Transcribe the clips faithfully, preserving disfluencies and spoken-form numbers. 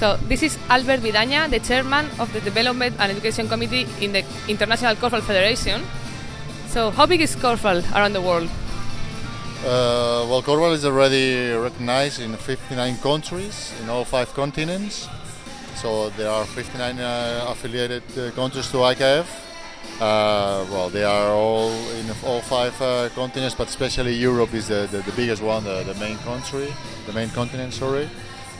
So this is Albert Vidaña, the chairman of the Development and Education Committee in the International Korfball Federation. So how big is korfball around the world? Uh, well, korfball is already recognized in fifty-nine countries in all five continents. So there are fifty-nine uh, affiliated uh, countries to I K F. Uh, well, they are all in all five uh, continents, but especially Europe is the, the, the biggest one, the, the main country, the main continent, sorry,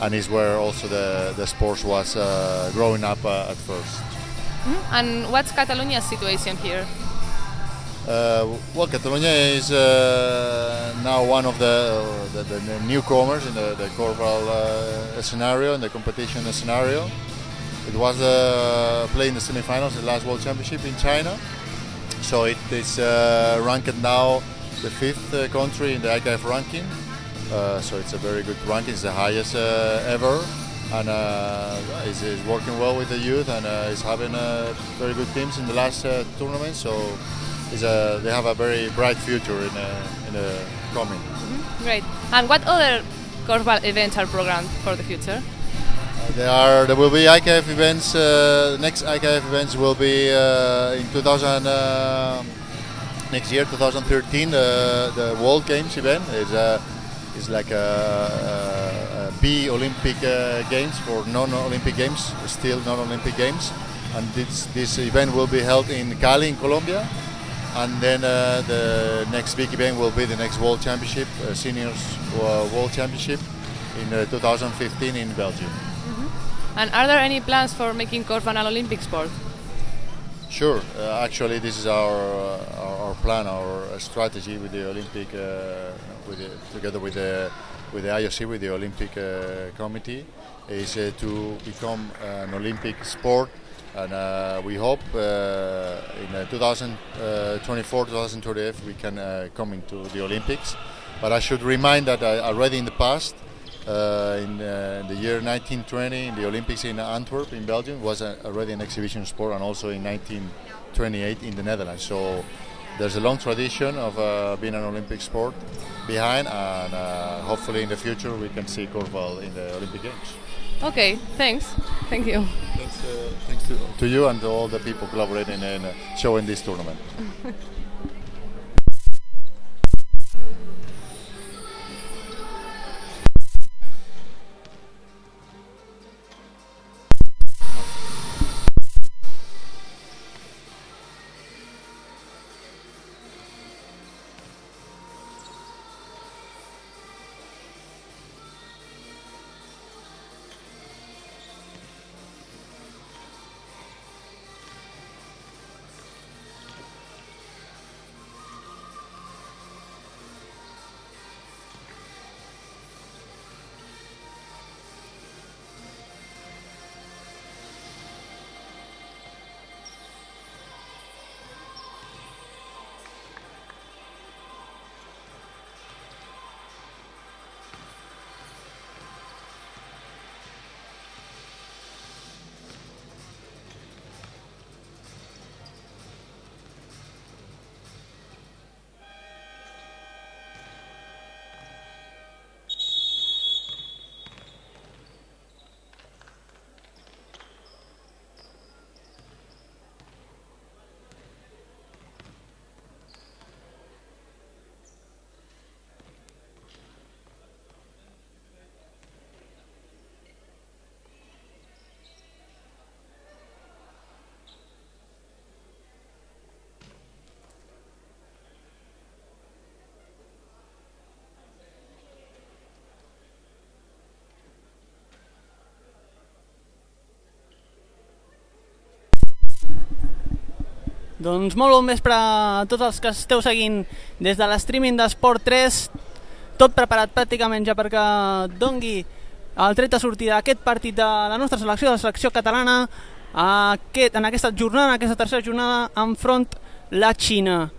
and is where also the, the sports was uh, growing up uh, at first. Mm-hmm. And what's Catalonia's situation here? Uh, well, Catalonia is uh, now one of the, the, the newcomers in the, the korfball uh, scenario, in the competition scenario. It was uh, playing in the semi-finals of the last World Championship in China. So it is uh, ranked now the fifth uh, country in the I K F ranking. Uh, so it's a very good ranking, it's the highest uh, ever. And uh, it's, it's working well with the youth and uh, is having uh, very good teams in the last uh, tournament. So it's a, they have a very bright future in, uh, in the coming. Mm-hmm. Great. And what other korfball events are programmed for the future? There are. There will be I K F events. Uh, next I K F events will be uh, in two thousand uh, next year, twenty thirteen. Uh, the World Games event is uh, is like a, a, a B Olympic uh, Games for non-Olympic games, still non-Olympic games, and this this event will be held in Cali, in Colombia, and then uh, the next big event will be the next World Championship, uh, Seniors uh, World Championship in uh, two thousand fifteen in Belgium. And are there any plans for making korfball an Olympic sport? Sure. Uh, actually, this is our, uh, our our plan, our uh, strategy with the Olympic, uh, with the, together with the with the I O C, with the Olympic uh, Committee, is uh, to become an Olympic sport, and uh, we hope uh, in uh, twenty twenty-four, twenty thirty we can uh, come into the Olympics. But I should remind that uh, already in the past. Uh, in uh, the year nineteen twenty, in the Olympics in Antwerp, in Belgium, was a, already an exhibition sport, and also in nineteen twenty-eight in the Netherlands. So there's a long tradition of uh, being an Olympic sport behind, and uh, hopefully in the future we can see korfball in the Olympic Games. Okay, thanks. Thank you. Thanks, uh, thanks to, to you and to all the people collaborating in uh, showing this tournament. Doncs molt bon vespre a tots els que esteu seguint des de l'streaming d'Esport tres, tot preparat pràcticament ja perquè dongui el tret de sortida d'aquest partit de la nostra selecció, de la selecció catalana, aquest, en aquesta jornada, en aquesta tercera jornada, enfront la Xina.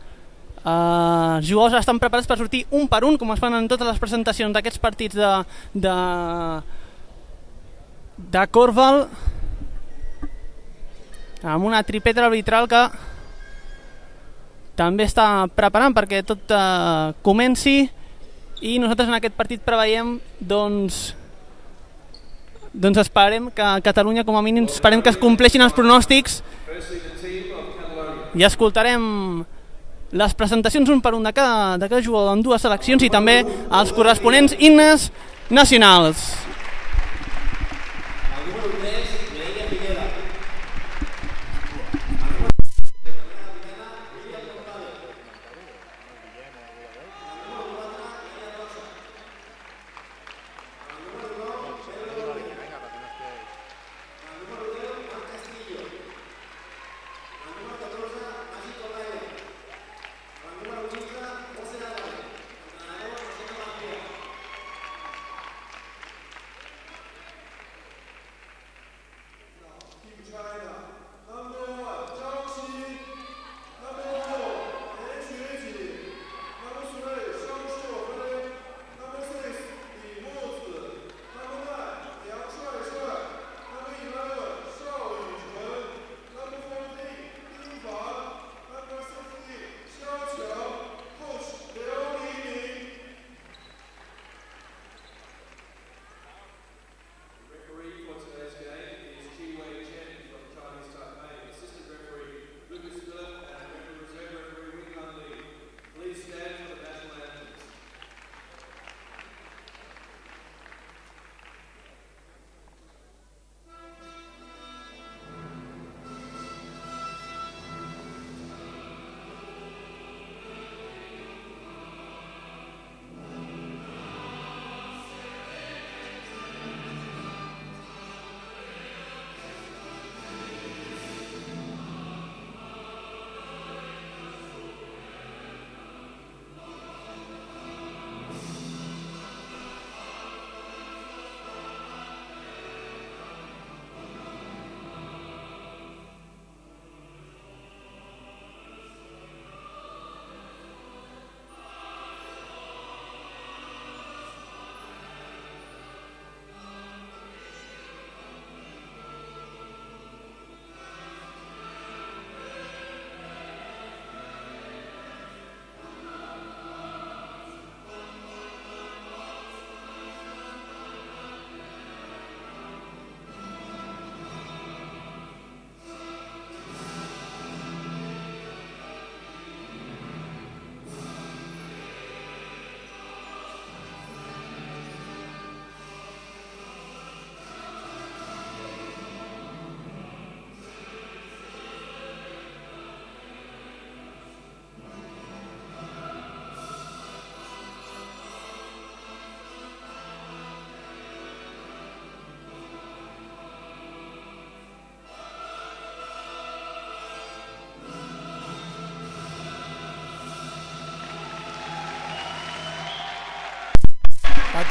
Uh, els jugadors estan preparats per sortir un per un, com es fan en totes les presentacions d'aquests partits de, de, de korfball, amb una tripeta arbitral que també està preparant perquè tot uh, comenci, i nosaltres en aquest partit preveiem doncs doncs esperem que Catalunya, com a mínim, esperem que es compleixin els pronòstics i escoltarem les presentacions un per un de cada, de cada jugador en dues seleccions i també els corresponents himnes nacionals.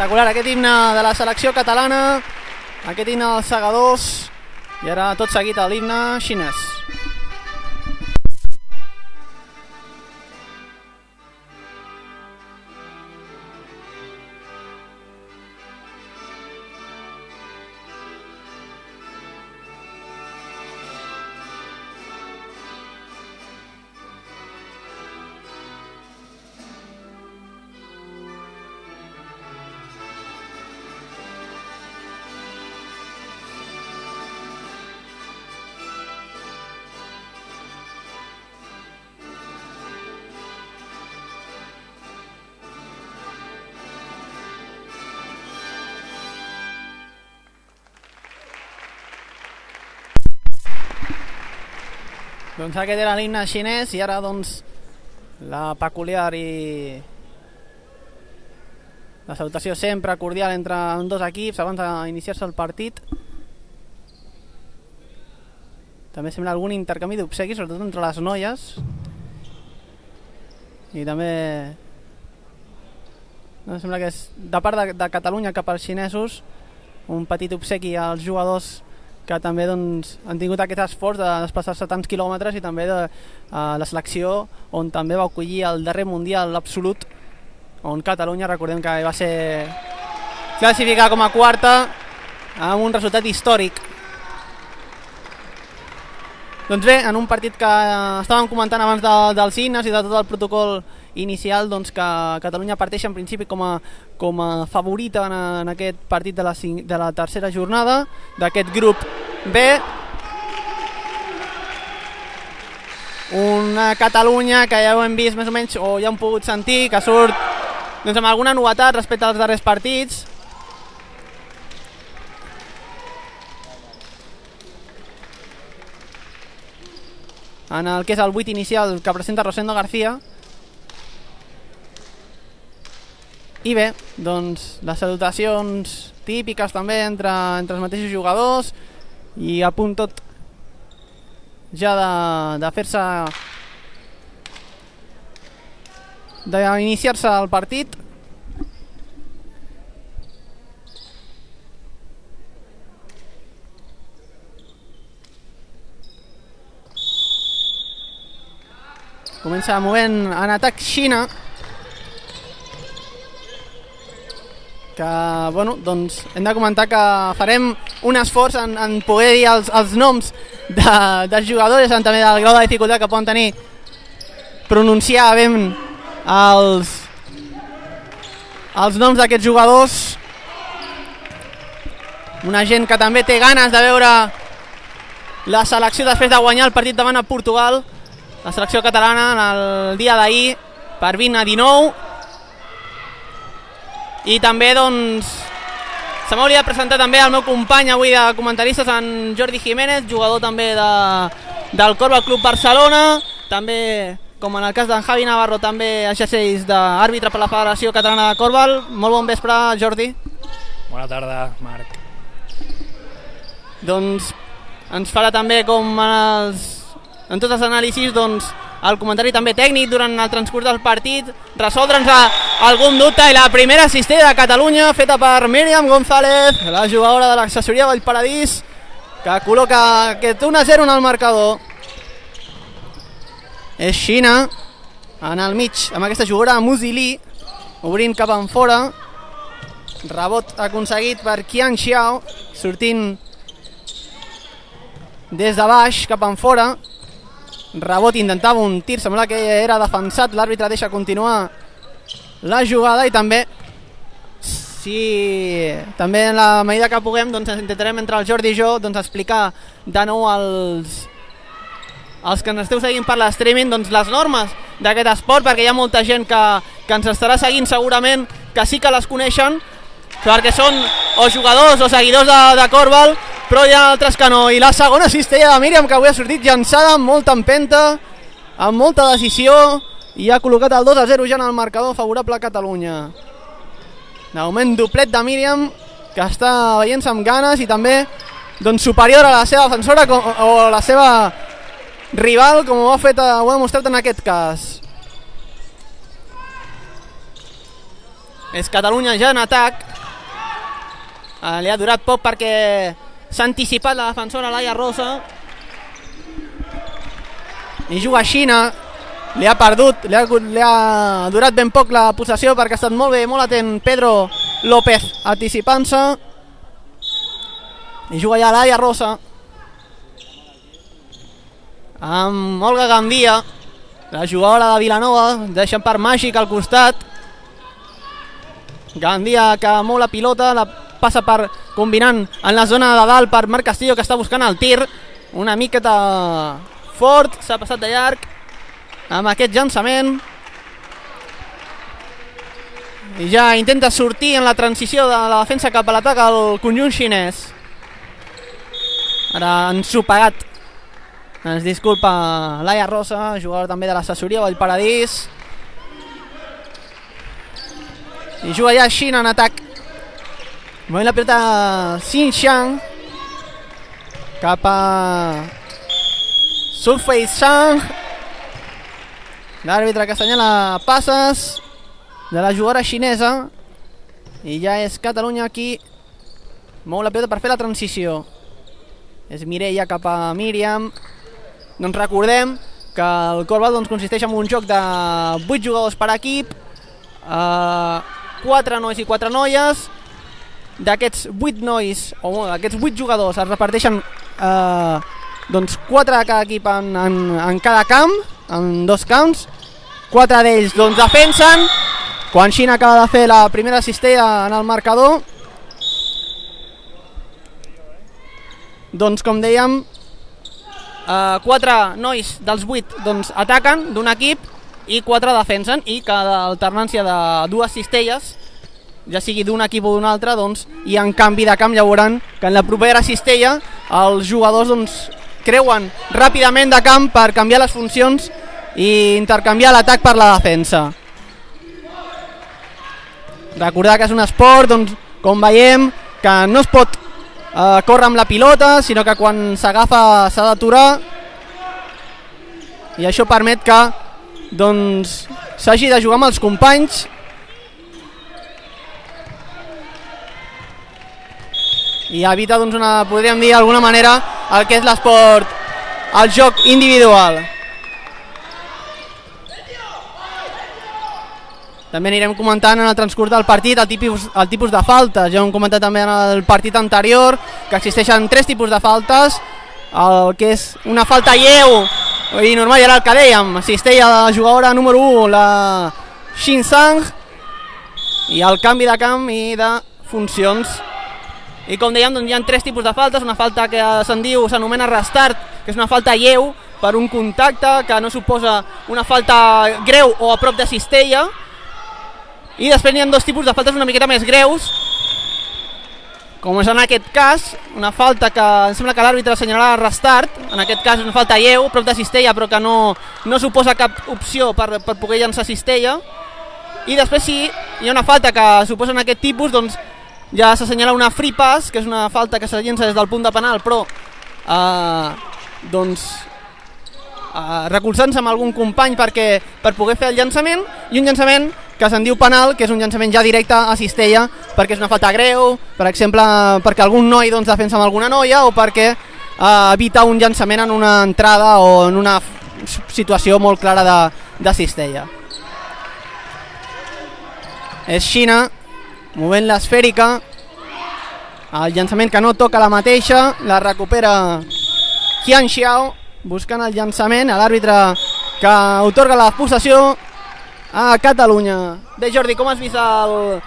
Espectacular aquest himne de la selecció catalana, aquest himne dels segadors, i ara tot seguit l'himne xinès. Doncs aquest era l'himne xinès i ara doncs la peculiar i la salutació sempre cordial entre dos equips abans d'iniciar-se el partit. També sembla algun intercanvi d'obsequis, sobretot entre les noies, i també no, sembla que és de part de, de Catalunya cap als xinesos un petit obsequi als jugadors que també doncs, han tingut aquest esforç de desplaçar-se tants quilòmetres, i també de uh, la selecció on també va acollir el darrer mundial absolut, on Catalunya, recordem que va ser classificada com a quarta amb un resultat històric. Doncs bé, en un partit que estàvem comentant abans de, dels himnes i de tot el protocol inicial, doncs que Catalunya parteix en principi com a, com a favorita en, en aquest partit de la, de la tercera jornada d'aquest grup B. Una Catalunya que ja ho hem vist més o menys, o ja hem pogut sentir, que surt doncs, amb alguna novetat respecte als darrers partits. En el que és el vuit inicial que presenta Rosendo García. I bé, doncs les salutacions típiques també entre, entre els mateixos jugadors i a punt tot ja de, de fer-se d'iniciar-se el partit. Comença movent en atac Xina, que, bueno, doncs hem de comentar que farem un esforç en, en poder dir els, els noms de, dels jugadors, també del grau de dificultat que poden tenir pronunciar ben els, els noms d'aquests jugadors. Una gent que també té ganes de veure la selecció després de guanyar el partit davant a Portugal, la selecció catalana en el dia d'ahir per vint a dinou. I també doncs se m'hauria de presentar també el meu company avui de comentaristes, en Jordi Jiménez, jugador també de, del Corval Club Barcelona, també com en el cas d'en Javi Navarro també exerceix d'àrbitre per la Federació Catalana de Corval. Molt bon vespre, Jordi. Bona tarda, Marc. Doncs ens farà també com en els en tots els anàlisis, doncs, el comentari també tècnic durant el transcurs del partit, resoldre'ns algun dubte, i la primera cistella de Catalunya feta per Míriam González, la jugadora de l'accessoria Vallparadís, que col·loca aquest un a zero en el marcador. És Xina en el mig amb aquesta jugadora Musili, obrint cap en fora, rebot aconseguit per Qian Xiao, sortint des de baix cap en fora. Rebot, intentava un tir, sembla que era defensat, l'àrbitre deixa continuar la jugada. I també, si també en la medida que puguem, doncs intentarem entre el Jordi i jo doncs explicar de nou als, als que ens esteu seguint per l'streaming doncs les normes d'aquest esport, perquè hi ha molta gent que, que ens estarà seguint segurament, que sí que les coneixen, perquè són o jugadors o seguidors de, de Corval, però hi ha altres que no. I la segona cistella de Míriam, que avui ha sortit llançada amb molta empenta, amb molta decisió, i ha col·locat el dos a zero ja en el marcador favorable a Catalunya. De moment doblet de Míriam, que està veient-se amb ganes i també doncs, superior a la seva defensora com, o a la seva rival, com ho ha fet, ho ha demostrat en aquest cas. És Catalunya ja en atac. Uh, li ha durat poc perquè s'ha anticipat la defensora Laia Rosa i juga a Xina. Li ha perdut, li ha, li ha durat ben poc la possessió perquè ha estat molt bé, molt atent Pedro López anticipant-se. I juga ja Laia Rosa amb Olga Gandia, la jugadora de Vilanova, deixant per Màgic al costat. Gandia que mou la pilota, la passa per combinant en la zona de dalt per Marc Castillo, que està buscant el tir una miqueta fort, s'ha passat de llarg amb aquest llançament i ja intenta sortir en la transició de la defensa cap a l'atac al conjunt xinès. Ara ensopegat, ens disculpa Laia Rosa, jugadora també de l'assessoria Vallparadís, i juga ja Xina en atac. Movent la pilota Xinjiang cap a Sufei Zhang, l'àrbitre que assenyala passes de la jugadora xinesa, i ja és Catalunya qui mou la pilota per fer la transició. És Mireia cap a Míriam. Doncs recordem que el Corval doncs, consisteix en un joc de vuit jugadors per equip, eh, quatre nois i quatre noies. D'aquests vuit nois, o d'aquests vuit jugadors es reparteixen eh, doncs quatre de cada equip en, en, en cada camp, en dos camps, quatre d'ells doncs defensen, quan Xina acaba de fer la primera cistella en el marcador, doncs com dèiem, eh, quatre nois dels vuit doncs, ataquen d'un equip i quatre defensen, i cada alternància de dues cistelles, ja sigui d'un equip o d'un altre, doncs, i en canvi de camp ja veuran que en la propera cistella els jugadors doncs, creuen ràpidament de camp per canviar les funcions i intercanviar l'atac per la defensa. Recordar que és un esport, doncs, com veiem, que no es pot eh, córrer amb la pilota, sinó que quan s'agafa s'ha d'aturar, i això permet que doncs s'hagi de jugar amb els companys i evita, doncs, una, podríem dir d'alguna manera, el que és l'esport, el joc individual. També anirem comentant en el transcurs del partit el tipus, el tipus de faltes. Ja ho hem comentat també en el partit anterior, que existeixen tres tipus de faltes, el que és una falta lleu i normal, i ara el que dèiem, cistella de la jugadora número u, la Xin Sang, i el canvi de camp i de funcions. I com dèiem, doncs, hi ha tres tipus de faltes, una falta que se'n diu, s'anomena restart, que és una falta lleu per un contacte que no suposa una falta greu o a prop de cistella, i després hi ha dos tipus de faltes una miqueta més greus, com és en aquest cas, una falta que em sembla que l'àrbitre assenyalarà restart, en aquest cas és una falta lleu, prop de cistella, però que no, no suposa cap opció per, per poder llançar cistella. I després sí, hi ha una falta que suposa en aquest tipus, doncs ja s'assenyala una free pass, que és una falta que se llença des del punt de penal, però eh, doncs eh, recolzant-se amb algun company perquè, per poder fer el llançament, i un llançament que se'n diu penal, que és un llançament ja directe a cistella, perquè és una falta greu, per exemple, perquè algun noi doncs, defensa amb alguna noia, o perquè eh, evita un llançament en una entrada o en una situació molt clara de, de cistella. És Xina movent l'esfèrica, el llançament que no toca la mateixa, la recupera Qian Xiao, buscant el llançament, a l'àrbitre que otorga la possessió a Catalunya. Bé, Jordi, com has vist el,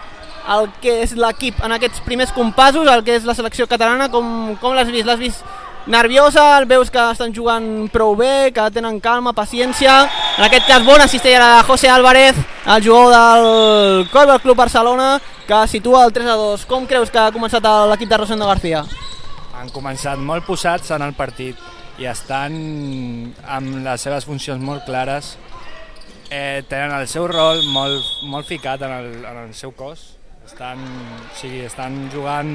el que és l'equip en aquests primers compassos, el que és la selecció catalana, com, com l'has vist? L'has vist nerviosa? Veus que estan jugant prou bé, que tenen calma, paciència? En aquest cas, bona cistella de José Álvarez, el jugador del Corbel Club Barcelona, que situa el tres a dos. Com creus que ha començat l'equip de Rosendo García? Han començat molt posats en el partit i estan amb les seves funcions molt clares. Eh, tenen el seu rol molt, molt ficat en el, en el seu cos. Estan, o sigui, estan jugant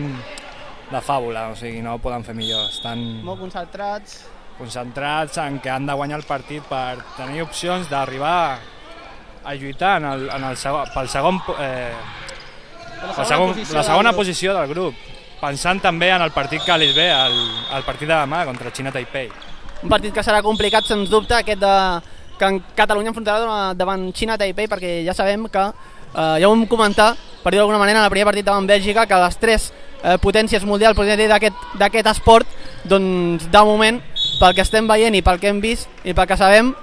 de fàbula, o sigui, no ho poden fer millor. Estan molt concentrats. Concentrats en que han de guanyar el partit per tenir opcions d'arribar a lluitar en el, en el segon, pel segon, eh, la, segona segon, la segona posició del grup, pensant també en el partit que li ve, el, el partit de demà contra Xina Taipei. Un partit que serà complicat, sens dubte, aquest de que en Catalunya enfrontarà davant Xina Taipei, perquè ja sabem que, eh, ja ho vam comentar, per dir d'alguna manera, en el primer partit davant Bèlgica, que les tres eh, potències mundials d'aquest esport, doncs de moment, pel que estem veient i pel que hem vist i pel que sabem,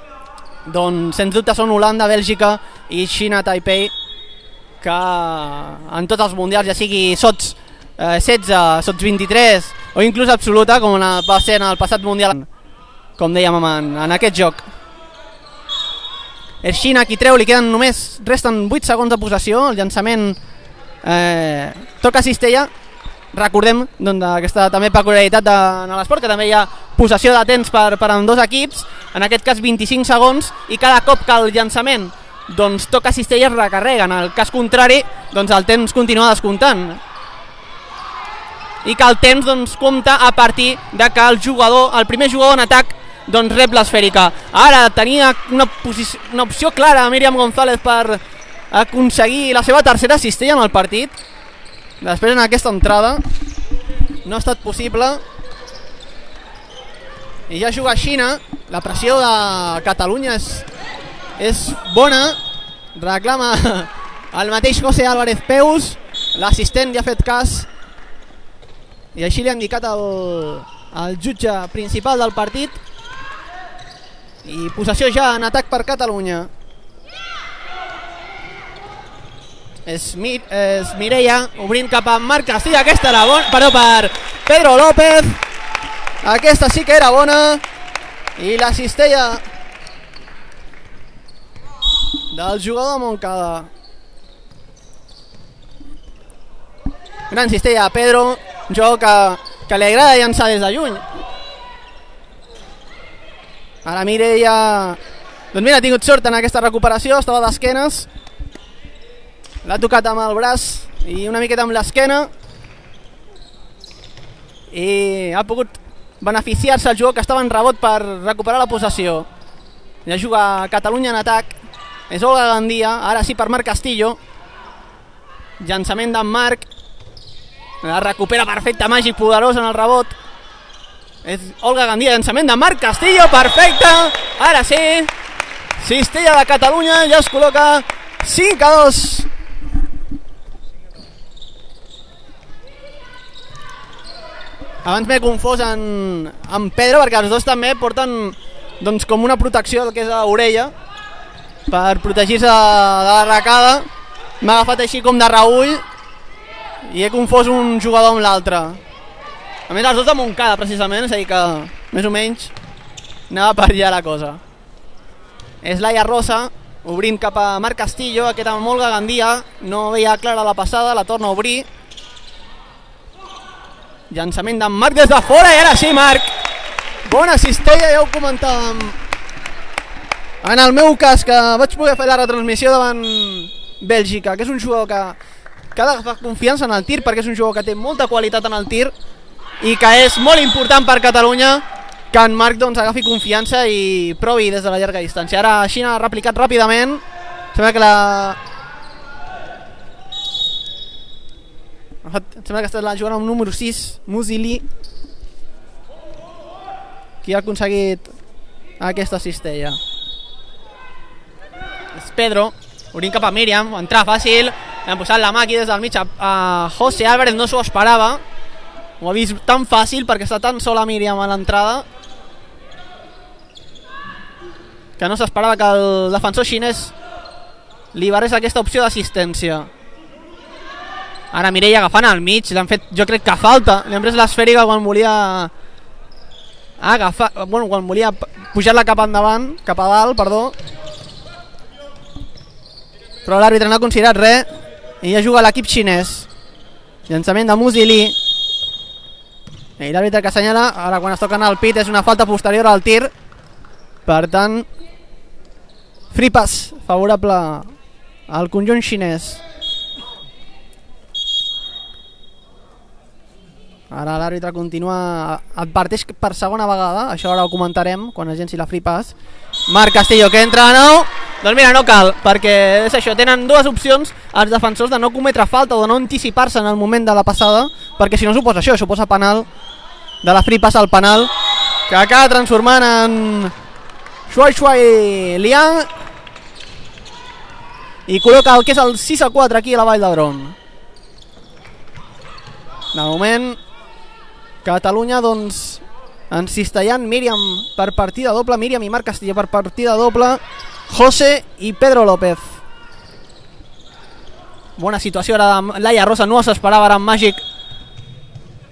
doncs sens dubte són Holanda, Bèlgica i Xina Taipei, que en tots els mundials, ja sigui sots eh, setze, sots vint-i-tres o inclús absoluta, com va ser en el passat mundial, com dèiem en, en aquest joc. És Xina qui treu, li queden només, resten vuit segons de possessió, el llançament eh, toca cistella. Recordem doncs, aquesta també peculiaritat de, en l'esport, que també hi ha possessió de temps per, per amb dos equips, en aquest cas vint-i-cinc segons, i cada cop que el llançament doncs, toca cistella es recarrega, en el cas contrari doncs, el temps continua descomptant, i que el temps doncs, compta a partir de que el jugador, el primer jugador en atac doncs rep l'esfèrica. Ara tenia una, una opció clara a Míriam González per aconseguir la seva tercera cistella en el partit. Després en aquesta entrada no ha estat possible i ja juga Xina. La pressió de Catalunya és, és bona, reclama el mateix José Álvarez Peus, l'assistent li ha fet cas i així li ha indicat el, el jutge principal del partit, i possessió ja en atac per Catalunya. És, Mi, és Mireia obrint cap a Marc Castillo. Aquesta era bona, però per Pedro López. Aquesta sí que era bona, i la cistella del jugador de Montcada. Gran cistella a Pedro, un jugador que, que li agrada llançar des de lluny. Ara Mireia, doncs mira, ha tingut sort en aquesta recuperació, estava d'esquenes, l'ha tocat amb el braç i una miqueta amb l'esquena, i ha pogut beneficiar-se el jugador que estava en rebot per recuperar la possessió. Ja juga Catalunya en atac, és Olga Gandia, ara sí per Marc Castillo, llançament d'en Marc, la recupera perfecte, màgic, poderós en el rebot, és Olga Gandia, llançament de Marc Castillo, perfecte, ara sí, cistella de Catalunya, ja es col·loca cinc a dos. Abans m'he confós en, en Pedro, perquè els dos també porten doncs, com una protecció del que és l'orella per protegir-se de l'arracada. M'ha agafat així com de reull i he confós un jugador amb l'altre. A més, els dos de Montcada, precisament, és a dir que més o menys anava per allà la cosa. És Laia Rosa obrint cap a Marc Castillo, aquest amb Olga Gandia, no veia clara la passada, la torna a obrir. Llançament d'en Marc des de fora, i ara sí, Marc, bona cistella, ja ho comentàvem en el meu cas, que vaig poder fer la retransmissió davant Bèlgica, que és un jugador que, que ha d'agafar confiança en el tir, perquè és un jugador que té molta qualitat en el tir i que és molt important per Catalunya que en Marc doncs, agafi confiança i provi des de la llarga distància. Ara Xina ha replicat ràpidament, sembla que la sembla que està la jugant amb número sis, Musili, qui ha aconseguit aquesta cistella. És Pedro, obrint cap a Míriam, entrar fàcil, han posat la mà aquí des del mig a, a José Álvarez, no s'ho esperava, ho ha vist tan fàcil perquè està tan sola Míriam a l'entrada que no s'esperava que el defensor xinès liberés aquesta opció d'assistència. Ara Mireia agafant al mig, l'han fet, jo crec que falta, li han pres l'esfèrica quan volia agafar, bueno, quan volia pujar-la cap endavant, cap a dalt, perdó, però l'àrbitre no ha considerat res i ja juga l'equip xinès. Llançament de Musili i l'àrbitre que assenyala, ara quan es toquen al pit és una falta posterior al tir, per tant free pass favorable al conjunt xinès. Ara l'àrbitre continua, adverteix per segona vegada, això ara ho comentarem quan es llenci la free pass. Marc Castillo que entra de nou, doncs mira, no cal, perquè és això, tenen dues opcions els defensors de no cometre falta o de no anticipar-se en el moment de la passada, perquè si no suposa això, suposa penal, de la free pass al penal, que acaba transformant en Shuai Shuai Liang i col·loca el que és el sis a quatre aquí a la Vall d'Hebron. De moment Catalunya doncs encistellant Míriam per partida doble, Míriam i Marc Castillo per partida doble, José i Pedro López. Bona situació ara de Laia Rosa, no s'esperava ara en màgic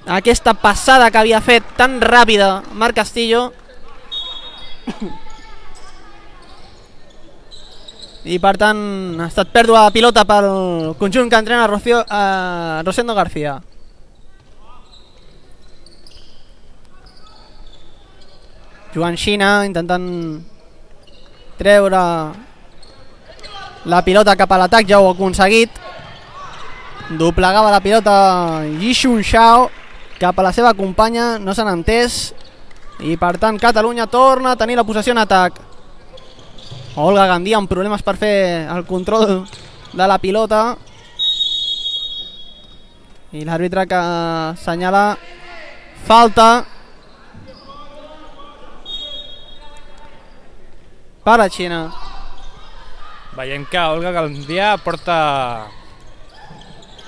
aquesta passada que havia fet tan ràpida Marc Castillo i per tant ha estat pèrdua de pilota pel conjunt que entrena Rocío, eh, Rosendo García. Jugant Xina, intentant treure la pilota cap a l'atac, ja ho ha aconseguit. Doblegava la pilota Yixun Xiao cap a la seva companya, no s'han entès i per tant Catalunya torna a tenir la possessió en atac. Olga Gandia amb problemes per fer el control de la pilota i l'àrbitre que assenyala falta per a Xina. Veiem que Olga Gandia porta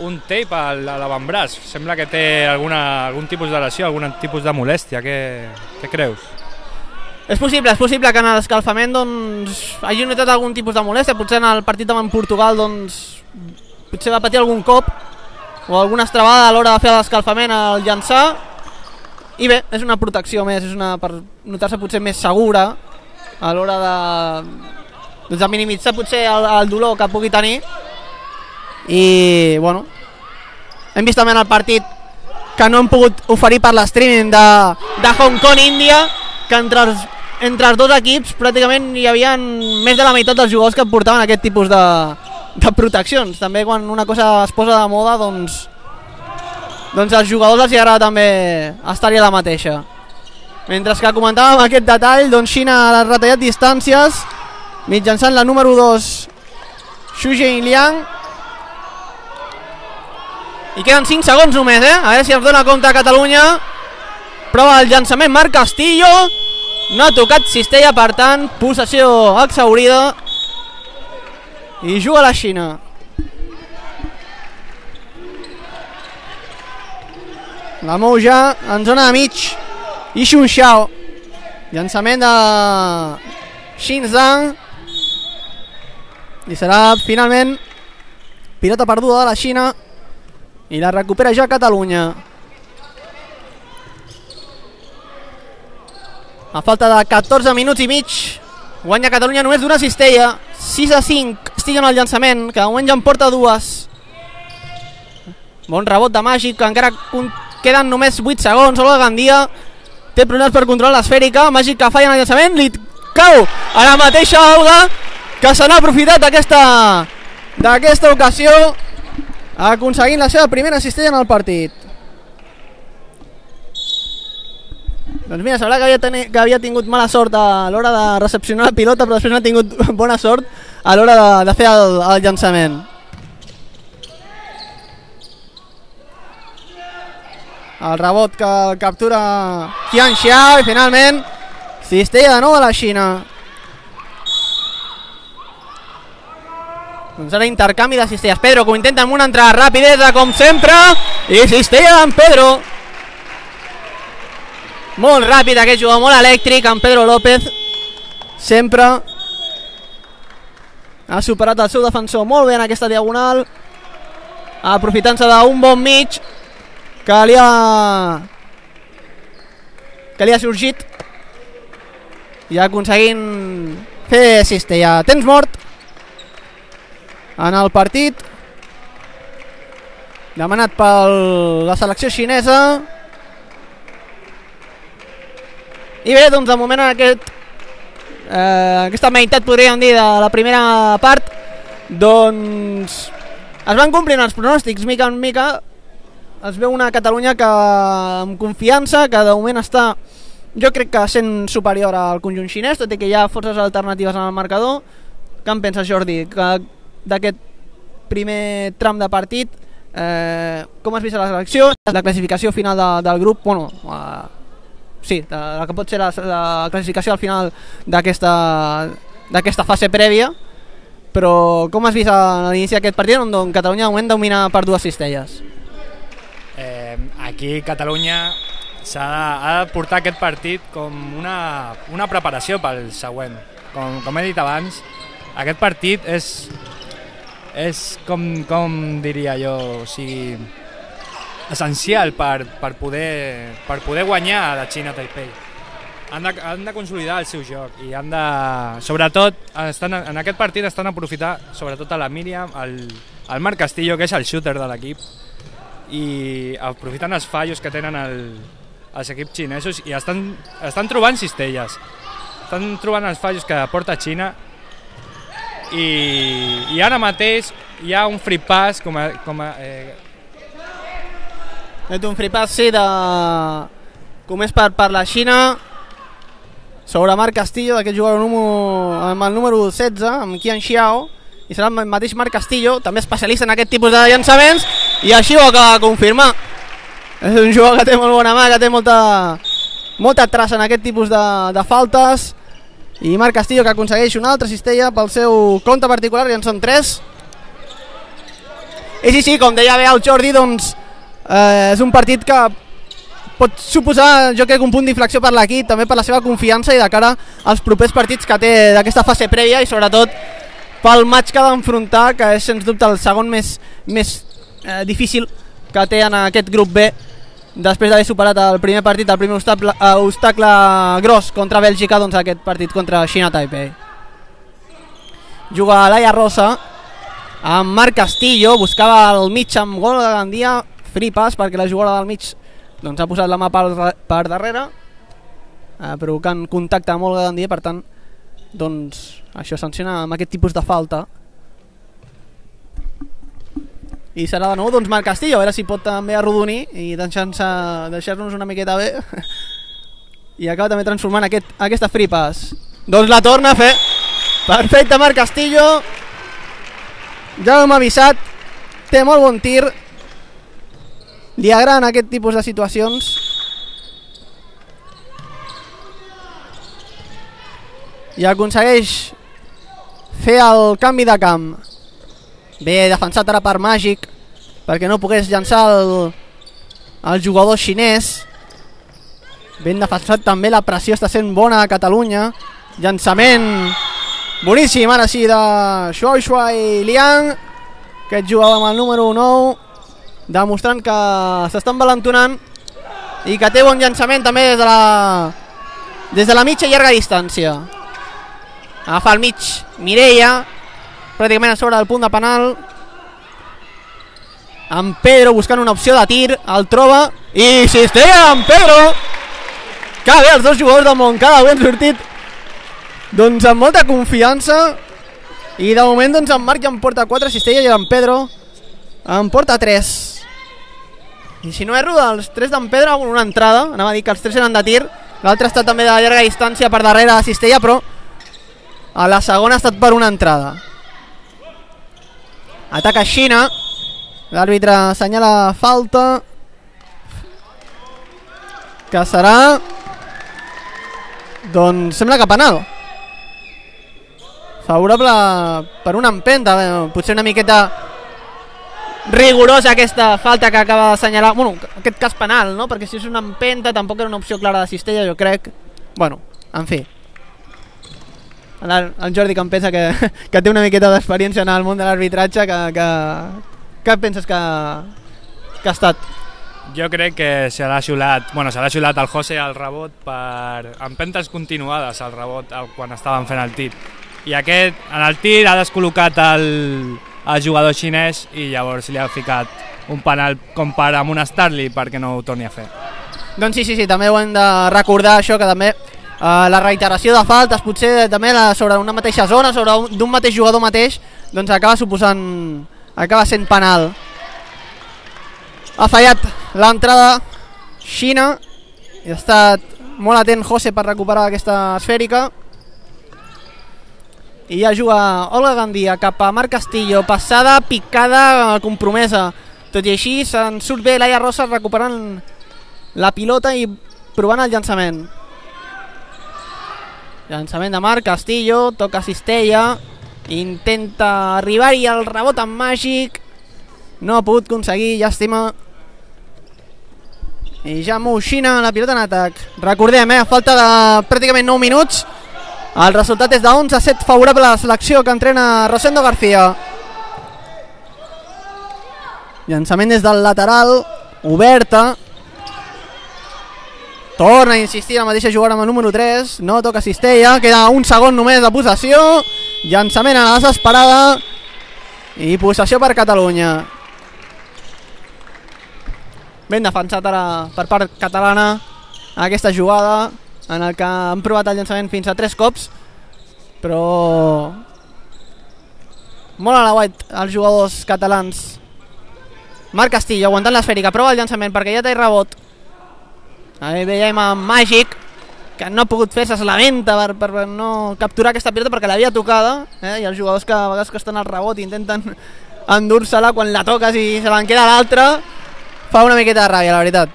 un tape a l'avantbraç. Sembla que té alguna, algun tipus de lesió, algun tipus de molèstia. Què, què creus? És possible, és possible que en l'escalfament doncs, hagi notat algun tipus de molèstia. Potser en el partit amb Portugal doncs, potser va patir algun cop o alguna estrabada a l'hora de fer l'escalfament al llançar. I bé, és una protecció més, és una per notar-se potser més segura a l'hora de, doncs, de minimitzar potser el, el dolor que pugui tenir. I bueno, hem vist també en el partit que no hem pogut oferir per l'streaming de, de Hong Kong-Índia, que entre els, entre els dos equips pràcticament hi havia més de la meitat dels jugadors que portaven aquest tipus de, de proteccions. També quan una cosa es posa de moda, doncs doncs als jugadors els agrada també estar-hi a la mateixa. Mentre que comentàvem aquest detall, doncs Xina ha retallat distàncies mitjançant la número dos Xu Jinliang, i queden cinc segons només, eh? A veure si ens dona compte a Catalunya. Prova el llançament Marc Castillo, no ha tocat cistella, per tant possessió exhaurida i juga la Xina. La mou ja en zona de mig i Xun Xiao, llançament de Xin Zhang, i serà finalment pilota perduda de la Xina i la recupera ja Catalunya. A falta de catorze minuts i mig guanya Catalunya només d'una cistella, sis a cinc estiguen al llançament, que de moment ja en porta dues. Bon rebot de Màgic, que encara queden només vuit segons. Olga Gandia té problemes per controlar l'esfèrica. Màgic que falla en el llançament, li cau a la mateixa Olga, que se n'ha aprofitat d'aquesta d'aquesta ocasió, aconseguint la seva primera cistella en el partit. Doncs mira, sembla que havia, ten que havia tingut mala sort a l'hora de recepcionar la pilota, però després no ha tingut bona sort a l'hora de, de fer el, el llançament. El rebot que captura Qian Xiao i finalment cistella de nou de la Xina. Doncs ara intercanvi de cistelles. Pedro, que ho intenta amb una entrada rapidesa com sempre, i cistella d'en Pedro. Molt ràpid aquest jugador, molt elèctric, en Pedro López. Sempre ha superat el seu defensor molt bé en aquesta diagonal, aprofitant-se d'un bon mig que li ha que li ha sorgit, i aconseguint fer cistella. Temps mort en el partit demanat per la selecció xinesa. I bé, doncs de moment en aquest eh, aquesta meitat, podríem dir, de la primera part, doncs es van complint els pronòstics. Mica en mica es veu una Catalunya que amb confiança, que de moment està, jo crec que sent superior al conjunt xinès, tot i que hi ha forces alternatives en el marcador. Què en penses, Jordi, d'aquest primer tram de partit? Eh, com has vist la selecció? La classificació final de, del grup, bueno, eh, sí, la que pot ser la, la classificació al final d'aquesta d'aquesta fase prèvia, però com has vist a l'inici d'aquest partit on Catalunya de moment domina per dues cistelles? Eh, aquí Catalunya s'ha de, ha de portar aquest partit com una, una preparació pel següent. Com, com he dit abans, aquest partit és, és com, com diria jo, o sigui, essencial per, per, poder, per poder guanyar a la Xina Taipei. Han de, han de consolidar el seu joc i han de, sobretot, estan, en aquest partit estan a aprofitar sobretot a la Míriam, el, el Marc Castillo, que és el shooter de l'equip, i aprofitant els fallos que tenen el, els equips xinesos, i estan, estan trobant cistelles, estan trobant els fallos que porta Xina, i, i ara mateix hi ha un free pass com a, com a eh, un free pass, sí, de com és per, per la Xina sobre Marc Castillo, aquest jugador número, amb el número setze, amb Qian Xiao, i serà el mateix Marc Castillo, també especialista en aquest tipus de llançaments, i així ho acaba de confirmar. És un jugador que té molt bona mà, que té molta, molta traça en aquest tipus de, de faltes, i Marc Castillo que aconsegueix una altra cistella pel seu compte particular, i en són tres. I sí, sí, com deia bé el Jordi, doncs eh, és un partit que pot suposar, jo crec, un punt d'inflexió per l'equip, també per la seva confiança i de cara als propers partits que té d'aquesta fase prèvia i sobretot pel match que ha d'enfrontar, que és sens dubte el segon més, més eh, difícil que té en aquest grup B, després d'haver superat el primer partit, el primer obstacle, eh, obstacle gros contra Bèlgica, doncs aquest partit contra Xina Taipei. Juga Laia Rosa amb Marc Castillo, buscava el mig amb gol de Gandia, free pass perquè la jugadora del mig doncs ha posat la mà per, per darrere, eh, provocant contacte amb Olga Gandia, per tant doncs això sanciona amb aquest tipus de falta. I serà de nou doncs Marc Castillo, a veure si pot també arrodonir i deixar-nos deixar una miqueta bé i acaba també transformant aquest, aquesta free pass. Doncs la torna a fer perfecte Marc Castillo, ja hem avisat, té molt bon tir, li agraden aquest tipus de situacions. I aconsegueix fer el canvi de camp. Bé defensat ara per Màgic perquè no pogués llançar el, el jugador xinès. Ben defensat també, la pressió està sent bona a Catalunya. Llançament boníssim ara sí de Shuai Shuai Liang, aquest jugador amb el número nou, demostrant que s'està envalentonant i que té bon llançament també des de la des de la mitja i llarga distància. Agafa al mig Mireia, pràcticament a sobre del punt de penal, en Pedro buscant una opció de tir, el troba i cistella en Pedro. Que bé, els dos jugadors del Montcada avui han sortit doncs amb molta confiança i de moment doncs en Marc ja en porta quatre cistelles i en Pedro en porta tres. I si no erro, dels tres d'en Pedro una entrada, anava a dir que els tres eren de tir, l'altre ha estat també de llarga distància per darrere de cistella, però a la segona ha estat per una entrada. Ataca Xina, l'àrbitre assenyala falta que serà doncs sembla que penal favorable per una empenta, potser una miqueta rigorosa aquesta falta que acaba d'assenyalar, bueno, aquest cas penal, no? Perquè si és una empenta tampoc era una opció clara de cistella, jo crec. Bueno, en fi, el, el Jordi que em pensa que, que té una miqueta d'experiència en el món de l'arbitratge, que, que, que penses que, que ha estat? Jo crec que s'ha xiulat, bueno, s'ha xiulat el José al rebot per empentes continuades al rebot quan estaven fent el tir. I aquest, en el tir, ha descol·locat el, el jugador xinès i llavors li ha ficat un penal com per amb un Starly perquè no ho torni a fer. Doncs sí, sí, sí, també ho hem de recordar això, que també eh, la reiteració de faltes, potser també la, sobre una mateixa zona, sobre un, d'un mateix jugador mateix, doncs acaba suposant, acaba sent penal. Ha fallat l'entrada Xina i ha estat molt atent José per recuperar aquesta esfèrica. I ja juga Olga Gandia cap a Marc Castillo, passada, picada, compromesa. Tot i així se'n surt bé Laia Rosa recuperant la pilota i provant el llançament. Llançament de Marc Castillo, toca cistella, intenta arribar-hi al rebot amb Màgic, no ha pogut aconseguir, llàstima. I ja mou Xina la pilota en atac. Recordem, eh, a falta de pràcticament nou minuts, el resultat és de onze a set favorable a la selecció que entrena Rosendo García. Llançament des del lateral, oberta. Torna a insistir la mateixa jugada amb el número tres, no toca cistella, queda un segon només de possessió. Llançament a la desesperada i possessió per Catalunya. Ben defensat ara per part catalana aquesta jugada en el que han provat el llançament fins a tres cops, però molt a la guait els jugadors catalans. Marc Castillo aguantant l'esfèrica, prova el llançament perquè ja té rebot. Ahí veiem a Màgic que no ha pogut fer-se, es lamenta per, per no capturar aquesta pilota perquè l'havia tocada, eh? I els jugadors que a vegades que estan al rebot intenten endur-se-la, quan la toques i se l'en queda l'altra fa una miqueta de ràbia, la veritat.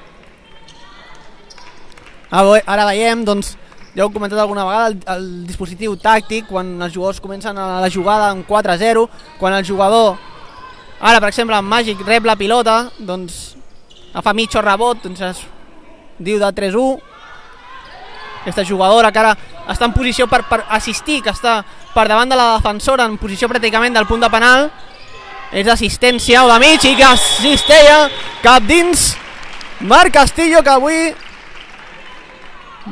Ara veiem, doncs, ja ho he comentat alguna vegada, el, el dispositiu tàctic, quan els jugadors comencen a la jugada en quatre a zero, quan el jugador Ara, per exemple, en Màgic rep la pilota, doncs fa mitjo rebot, doncs es diu de tres u. Aquesta jugadora que ara està en posició per, per assistir, que està per davant de la defensora, en posició pràcticament del punt de penal. És d'assistència o de mig i que Cistella cap dins. Marc Castillo, que avui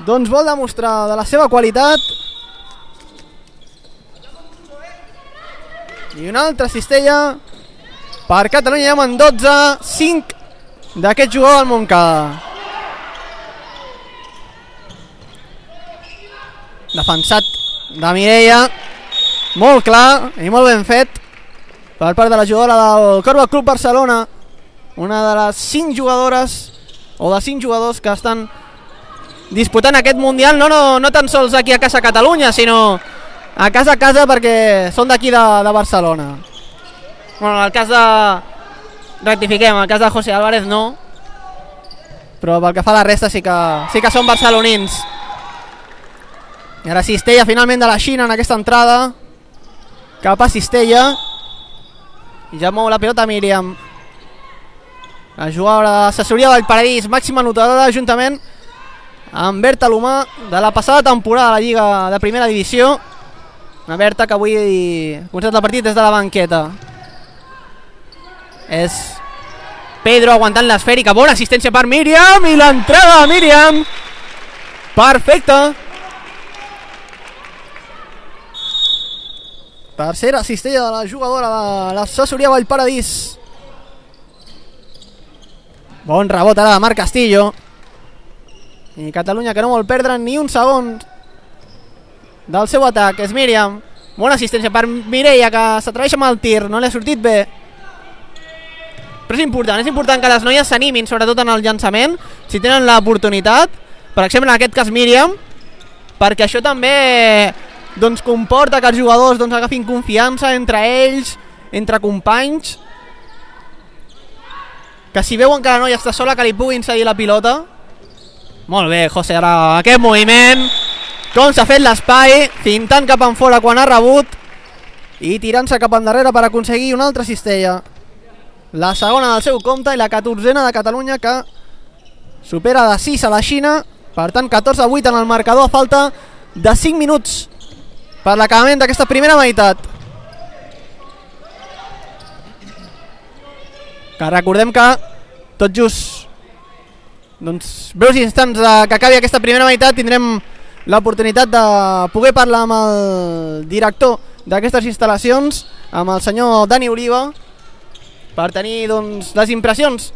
doncs vol demostrar de la seva qualitat. I una altra Cistella per Catalunya, ja en dotze, cinc d'aquest jugador del Montcada. Defensat de Mireia, molt clar i molt ben fet per part de la jugadora del Corba Club Barcelona, una de les cinc jugadores o de cinc jugadors que estan disputant aquest Mundial, no, no, no tan sols aquí a casa Catalunya, sinó a casa a casa, perquè són d'aquí de, de Barcelona. Bueno, en el cas de... rectifiquem, en el cas de José Álvarez no, però pel que fa a la resta sí que, sí que són barcelonins. I ara Cistella finalment de la Xina en aquesta entrada, cap a Cistella, i ja mou la pilota Míriam, la jugadora de l'assessoria del Paradís, màxima anotadora juntament amb Berta Lomà de la passada temporada de la Lliga de Primera Divisió. Una Berta que avui ha començat el partit des de la banqueta. És Pedro aguantant l'esfèrica, bona assistència per Míriam, i l'entrada de Míriam perfecta. Tercera cistella de la jugadora de l'assessoria Vallparadís. Bon rebot ara de Marc Castillo. I Catalunya que no vol perdre ni un segon del seu atac. És Míriam. Bona assistència per Mireia, que s'atreveix amb el tir. No li ha sortit bé. Però és important, és important que les noies s'animin, sobretot en el llançament, si tenen l'oportunitat. Per exemple, en aquest cas Míriam, perquè això també doncs comporta que els jugadors doncs agafin confiança entre ells, entre companys, que si veuen que la noia està sola, que li puguin cedir la pilota. Molt bé, José, ara aquest moviment, com s'ha fet l'espai, fintant cap en fora quan ha rebut i tirant-se cap endarrere per aconseguir una altra cistella. La segona del seu compte i la catorzena de Catalunya, que supera de sis a la Xina. Per tant, catorze a vuit en el marcador a falta de cinc minuts per l'acabament d'aquesta primera meitat. Que recordem que tot just doncs breus instants de que acabi aquesta primera meitat tindrem l'oportunitat de poder parlar amb el director d'aquestes instal·lacions, amb el senyor Dani Oliva, per tenir doncs les impressions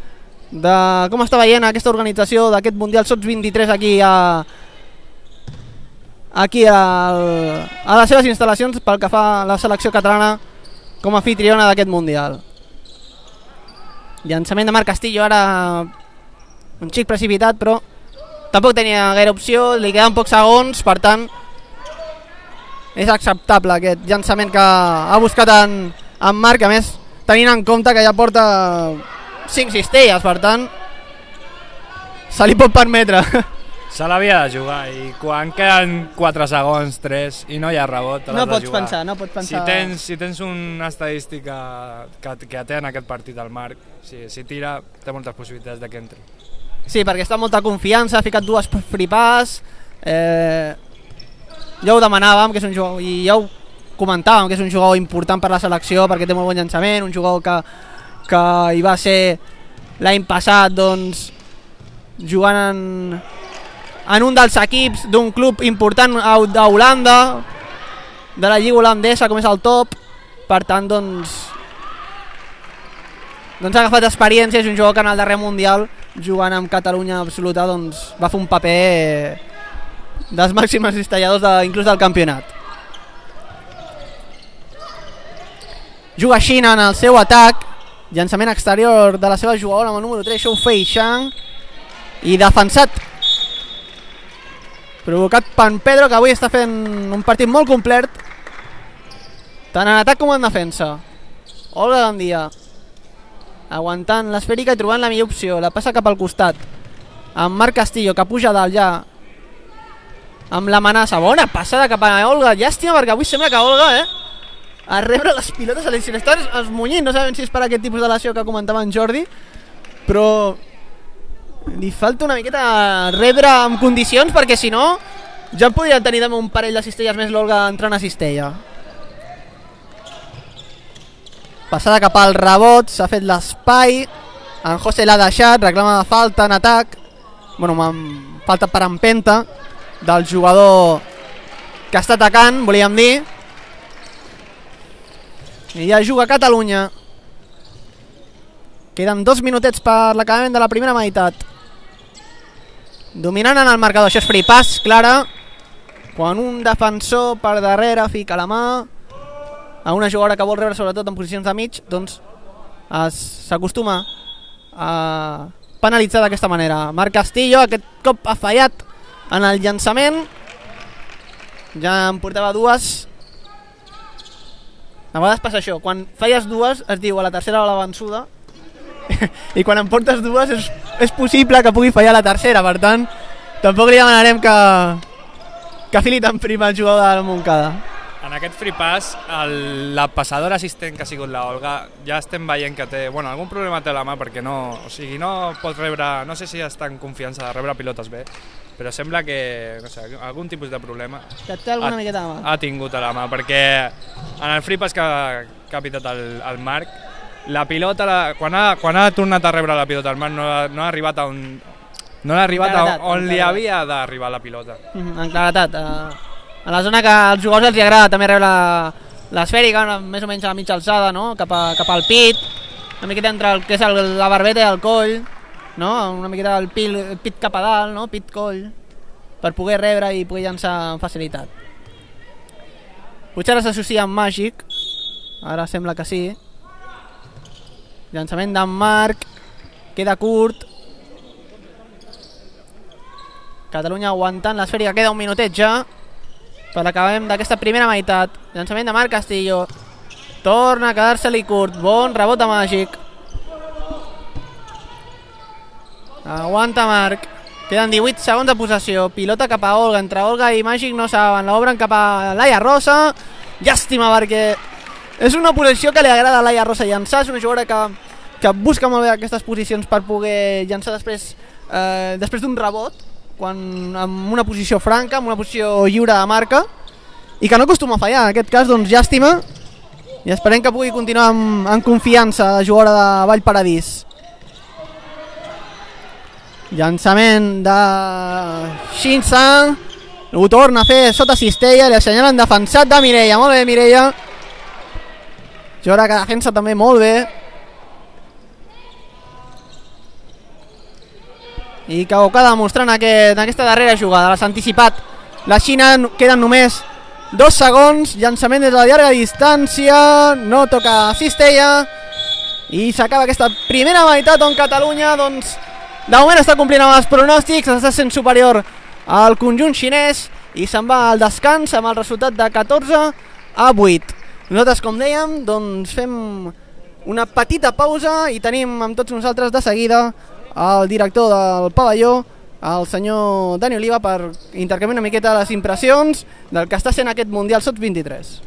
de com està veient aquesta organització d'aquest Mundial Sots vint-i-tres aquí a aquí al, a les seves instal·lacions pel que fa a la selecció catalana com a anfitriona d'aquest Mundial. Llançament de Marc Castillo, ara un xic precipitat, però tampoc tenia gaire opció, li queden pocs segons, per tant és acceptable aquest llançament que ha buscat en, en Marc, a més tenint en compte que ja porta cinc cistelles, per tant se li pot permetre. Se l'havia de jugar, i quan queden quatre segons, tres, i no hi ha rebot, no pots pensar, no pots pensar. Si tens, si tens una estadística que, que té en aquest partit el Marc, si, si tira, té moltes possibilitats de que entri. Sí, perquè està amb molta confiança, ha ficat dues fripàs, eh, ja ho demanàvem, que és un jugador, i ja ho comentàvem, que és un jugador important per la selecció, perquè té molt bon llançament, un jugador que, que hi va ser l'any passat, doncs, jugant en, en un dels equips d'un club important a, a Holanda, de la lliga holandesa, com és el Top. Per tant, doncs, doncs ha agafat experiència, és un jugador que en el darrer Mundial, jugant amb Catalunya absoluta, doncs va fer un paper dels màxims cistelladors de, inclús del campionat. Juga Xina en el seu atac, llançament exterior de la seva jugadora amb el número tres, Xu Fei Shang, i defensat, provocat per Pedro, que avui està fent un partit molt complet, tant en atac com en defensa. Olga Gandia aguantant l'esfèrica i trobant la millor opció, la passa cap al costat amb Marc Castillo, que puja dalt ja amb l'amenaça. Bona passada cap a Olga, llàstima perquè avui sembla que Olga eh, a rebre les pilotes, se li estan esmunyint, no sabem si és per aquest tipus de lesió que comentava en Jordi, però li falta una miqueta rebre en condicions, perquè si no ja podria tenir també un parell de cistelles més l'Olga entrant a cistella. Passada cap al rebot, s'ha fet l'espai, en José l'ha deixat, reclama de falta en atac, bueno, falta per empenta del jugador que està atacant, volíem dir. I ja juga Catalunya. Queden dos minutets per l'acabament de la primera meitat. Dominant en el marcador, això és free pass, clara, quan un defensor per darrere fica la mà a una jugadora que vol rebre sobretot en posicions de mig, doncs s'acostuma a penalitzar d'aquesta manera. Marc Castillo aquest cop ha fallat en el llançament, ja en portava dues. A vegades passa això, quan falles dues es diu a la tercera o la vençuda i quan en portes dues és, és possible que pugui fallar la tercera, per tant tampoc li demanarem que que fili tan prim el jugador de la Montcada. En aquest free pass, el, la passadora assistent que ha sigut la Olga, ja estem veient que té, bueno, algun problema té a la mà perquè no, o sigui, no pot rebre, no sé si està en confiança de rebre pilotes bé, però sembla que, no sé, algun tipus de problema que té alguna ha, miqueta de mà. Ha tingut a la mà, perquè en el free pass que, que ha pitat el, el Marc, la pilota, la, quan, ha, quan ha tornat a rebre la pilota el Marc no, no ha arribat a on, no ha arribat claretat, a on li havia d'arribar la pilota. Mm-hmm, en claretat, uh... a la zona que als jugadors els agrada també rebre l'esfèrica, més o menys a la mitja alçada, no? cap, a, cap al pit, una miqueta entre el que és el, la barbeta i el coll, no? Una miqueta el pit, el pit cap a dalt, no? Pit-coll, per poder rebre i poder llançar amb facilitat. Potser ara s'associa amb Màgic, ara sembla que sí. Llançament d'en Marc, queda curt. Catalunya aguantant l'esfèrica, queda un minutet ja per l'acabem d'aquesta primera meitat. Llançament de Marc Castillo, torna a quedar-se-li curt, bon rebot de Màgic, aguanta Marc, queden divuit segons de possessió, pilota cap a Olga, entre Olga i Màgic no saben, l'obren cap a Laia Rosa, llàstima perquè és una posició que li agrada a Laia Rosa llançar, és una jugadora que, que busca molt bé aquestes posicions per poder llançar després, eh, després d'un rebot, quan en una posició franca, en una posició lliure de marca, i que no acostuma a fallar. En aquest cas, doncs, llàstima, i esperem que pugui continuar amb, amb confiança la jugadora de Vallparadís. Llançament de Xinsa, ho torna a fer sota cistella, li assenyalen defensat de Mireia, molt bé Mireia, jugadora que defensa també molt bé, i que ho acaba demostrant aquest, en aquesta darrera jugada. L'has anticipat la Xina, queden només dos segons, llançament des de la llarga distància, no toca cistella i s'acaba aquesta primera meitat on Catalunya doncs de moment està complint amb els pronòstics, està sent superior al conjunt xinès i se'n va al descans amb el resultat de catorze a vuit. Nosaltres, com dèiem, doncs fem una petita pausa i tenim amb tots nosaltres de seguida el director del pavelló, el senyor Dani Oliva, per intercanviar una miqueta les impressions del que està sent aquest Mundial Sots vint-i-tres.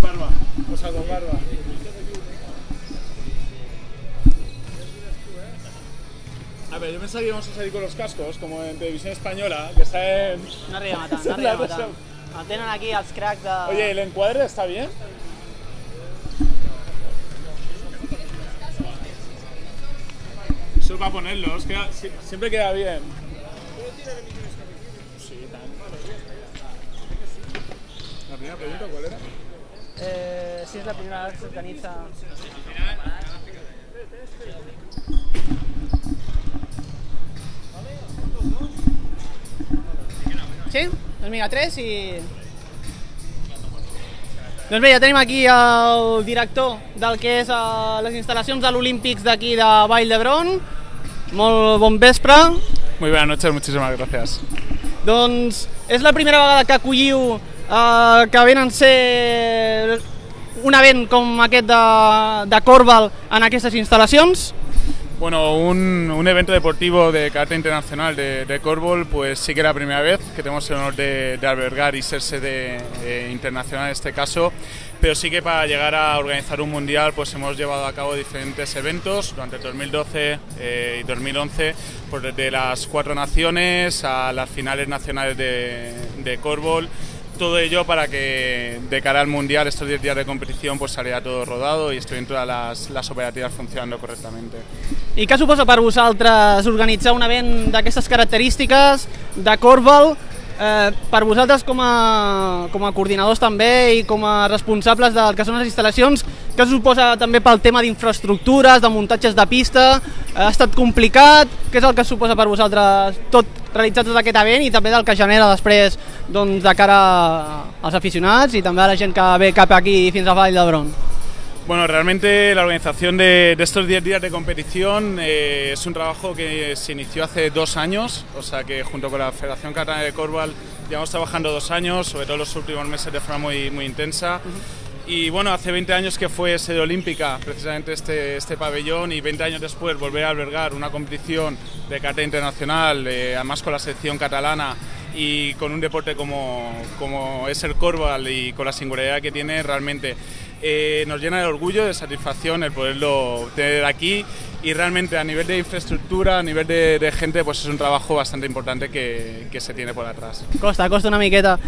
barba, o sea, con barba. A ver, yo pensaba que íbamos a salir con los cascos, como en Televisión Española, que está en... No arriba tant, no arriba tant. El tenen aquí els cracs de... Oye, ¿el encuadre está bien? Eso es para ponerlos, queda, siempre queda bien. Sí, tan. La primera pregunta, ¿cuál era? Eh, si és la primera vegada que s'organitza... Sí? Doncs vinga, tres i... Doncs bé, ja tenim aquí el director del que és uh, les instal·lacions de l'Olímpics d'aquí de Vall d'Hebron. Molt bon vespre. Muy buenas noches, muchísimas gracias. Doncs és la primera vegada que acolliu uh, que venen ser un event com aquest de, de Corval en aquestes instal·lacions? Bueno, un, un evento deportivo de carácter internacional de, de Corfball, pues sí que era la primera vez que tenemos el honor de, de albergar y ser sede eh, internacional en este caso, pero sí que para llegar a organizar un mundial pues hemos llevado a cabo diferentes eventos durante el dos mil doce eh, y dos mil once, pues desde las cuatro naciones a las finales nacionales de, de Corfball. Todo ello para que de cara al Mundial, estos diez días de competición, pues saliera todo rodado i estiguin totes les, les operatives funcionant correctament. I què suposa per vosaltres organitzar un event d'aquestes característiques de Corfball? Eh, per vosaltres com a, com a coordinadors també i com a responsables del que són les instal·lacions, què suposa també pel tema d'infraestructures, de muntatges de pista? Ha estat complicat? Què és el que suposa per vosaltres tot realitzar tot aquest event i també del que genera després doncs, de cara als aficionats i també a la gent que ve cap aquí fins a Vall d'Hebron? Bueno, realmente la organización de, de estos diez días de competición eh, es un trabajo que se inició hace dos años, o sea que junto con la Federación Catalana de Corfball llevamos trabajando dos años, sobre todo los últimos meses de forma muy, muy intensa. Y bueno, hace veinte años que fue sede olímpica precisamente este, este pabellón, y veinte años después volver a albergar una competición de carácter internacional, eh, además con la selección catalana y con un deporte como, como es el Corfball y con la singularidad que tiene, realmente eh, nos llena de orgullo, de satisfacción el poderlo tener aquí, y realmente a nivel de infraestructura, a nivel de, de gente, pues es un trabajo bastante importante que, que se tiene por atrás. Costa, costa una miqueta.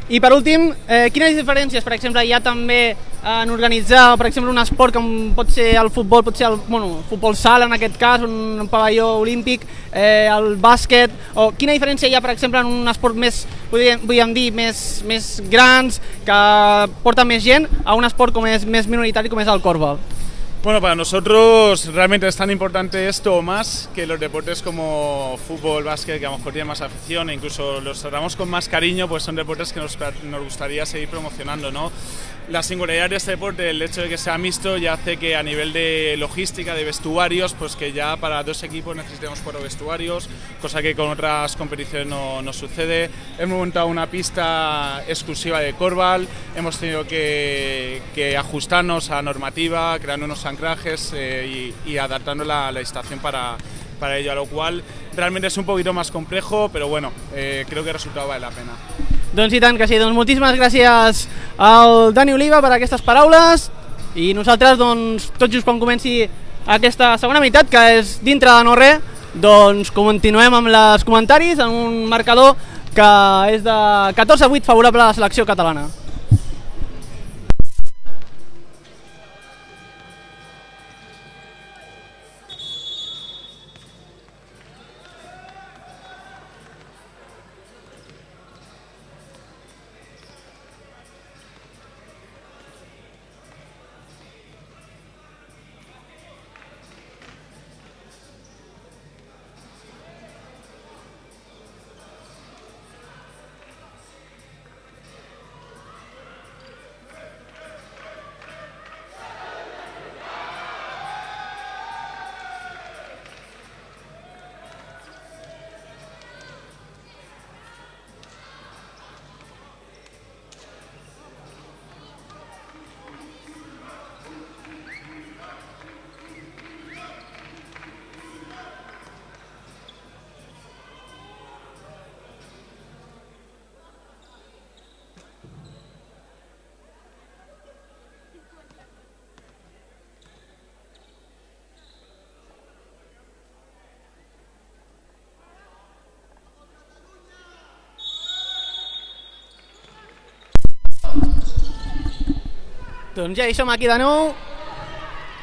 I per últim, eh, quines diferències, per exemple, hi ha també en organitzar, per exemple, un esport com pot ser el futbol, pot ser el bueno, futbol sala en aquest cas, un pavelló olímpic, eh, el bàsquet, o quina diferència hi ha, per exemple, en un esport més, podríem, podríem dir, més, més grans, que porta més gent, a un esport com és més minoritari com és el Corfball? Bueno, para nosotros realmente es tan importante esto o más que los deportes como fútbol, básquet, que a lo mejor tienen más afición e incluso los tratamos con más cariño, pues son deportes que nos, nos gustaría seguir promocionando, ¿no? La singularidad de este deporte, el hecho de que sea mixto, ya hace que a nivel de logística, de vestuarios, pues que ya para dos equipos necesitemos cuatro vestuarios, cosa que con otras competiciones no, no sucede. Hemos montado una pista exclusiva de Corfball, hemos tenido que, que ajustarnos a la normativa, creando unos anclajes eh, y, y adaptando la, la estación para, para ello, a lo cual realmente es un poquito más complejo, pero bueno, eh, creo que el resultado vale la pena. Doncs i tant que sí, doncs moltíssimes gràcies al Dani Oliva per aquestes paraules, i nosaltres doncs tot just quan comenci aquesta segona meitat, que és dintre de no res, doncs continuem amb els comentaris en un marcador que és de catorze a vuit favorable a la selecció catalana. Doncs ja hi som aquí de nou,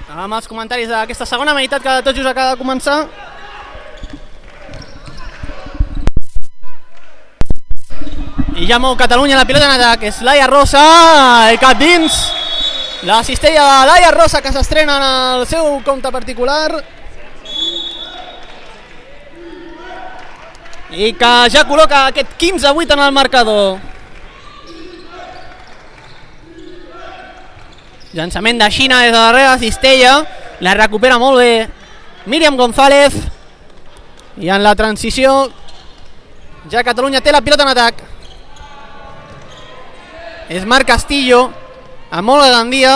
amb els comentaris d'aquesta segona meitat que tot just acaba de començar. I ja mou Catalunya la pilota en atac, és Laia Rosa, i cap dins, la cistella de Laia Rosa que s'estrena en el seu compte particular i que ja col·loca aquest quinze a vuit en el marcador. Llançament de Xina des de darrere, cistella, la recupera molt bé Míriam González, i en la transició ja Catalunya té la pilota en atac. És Marc Castillo amb molt de Gandia,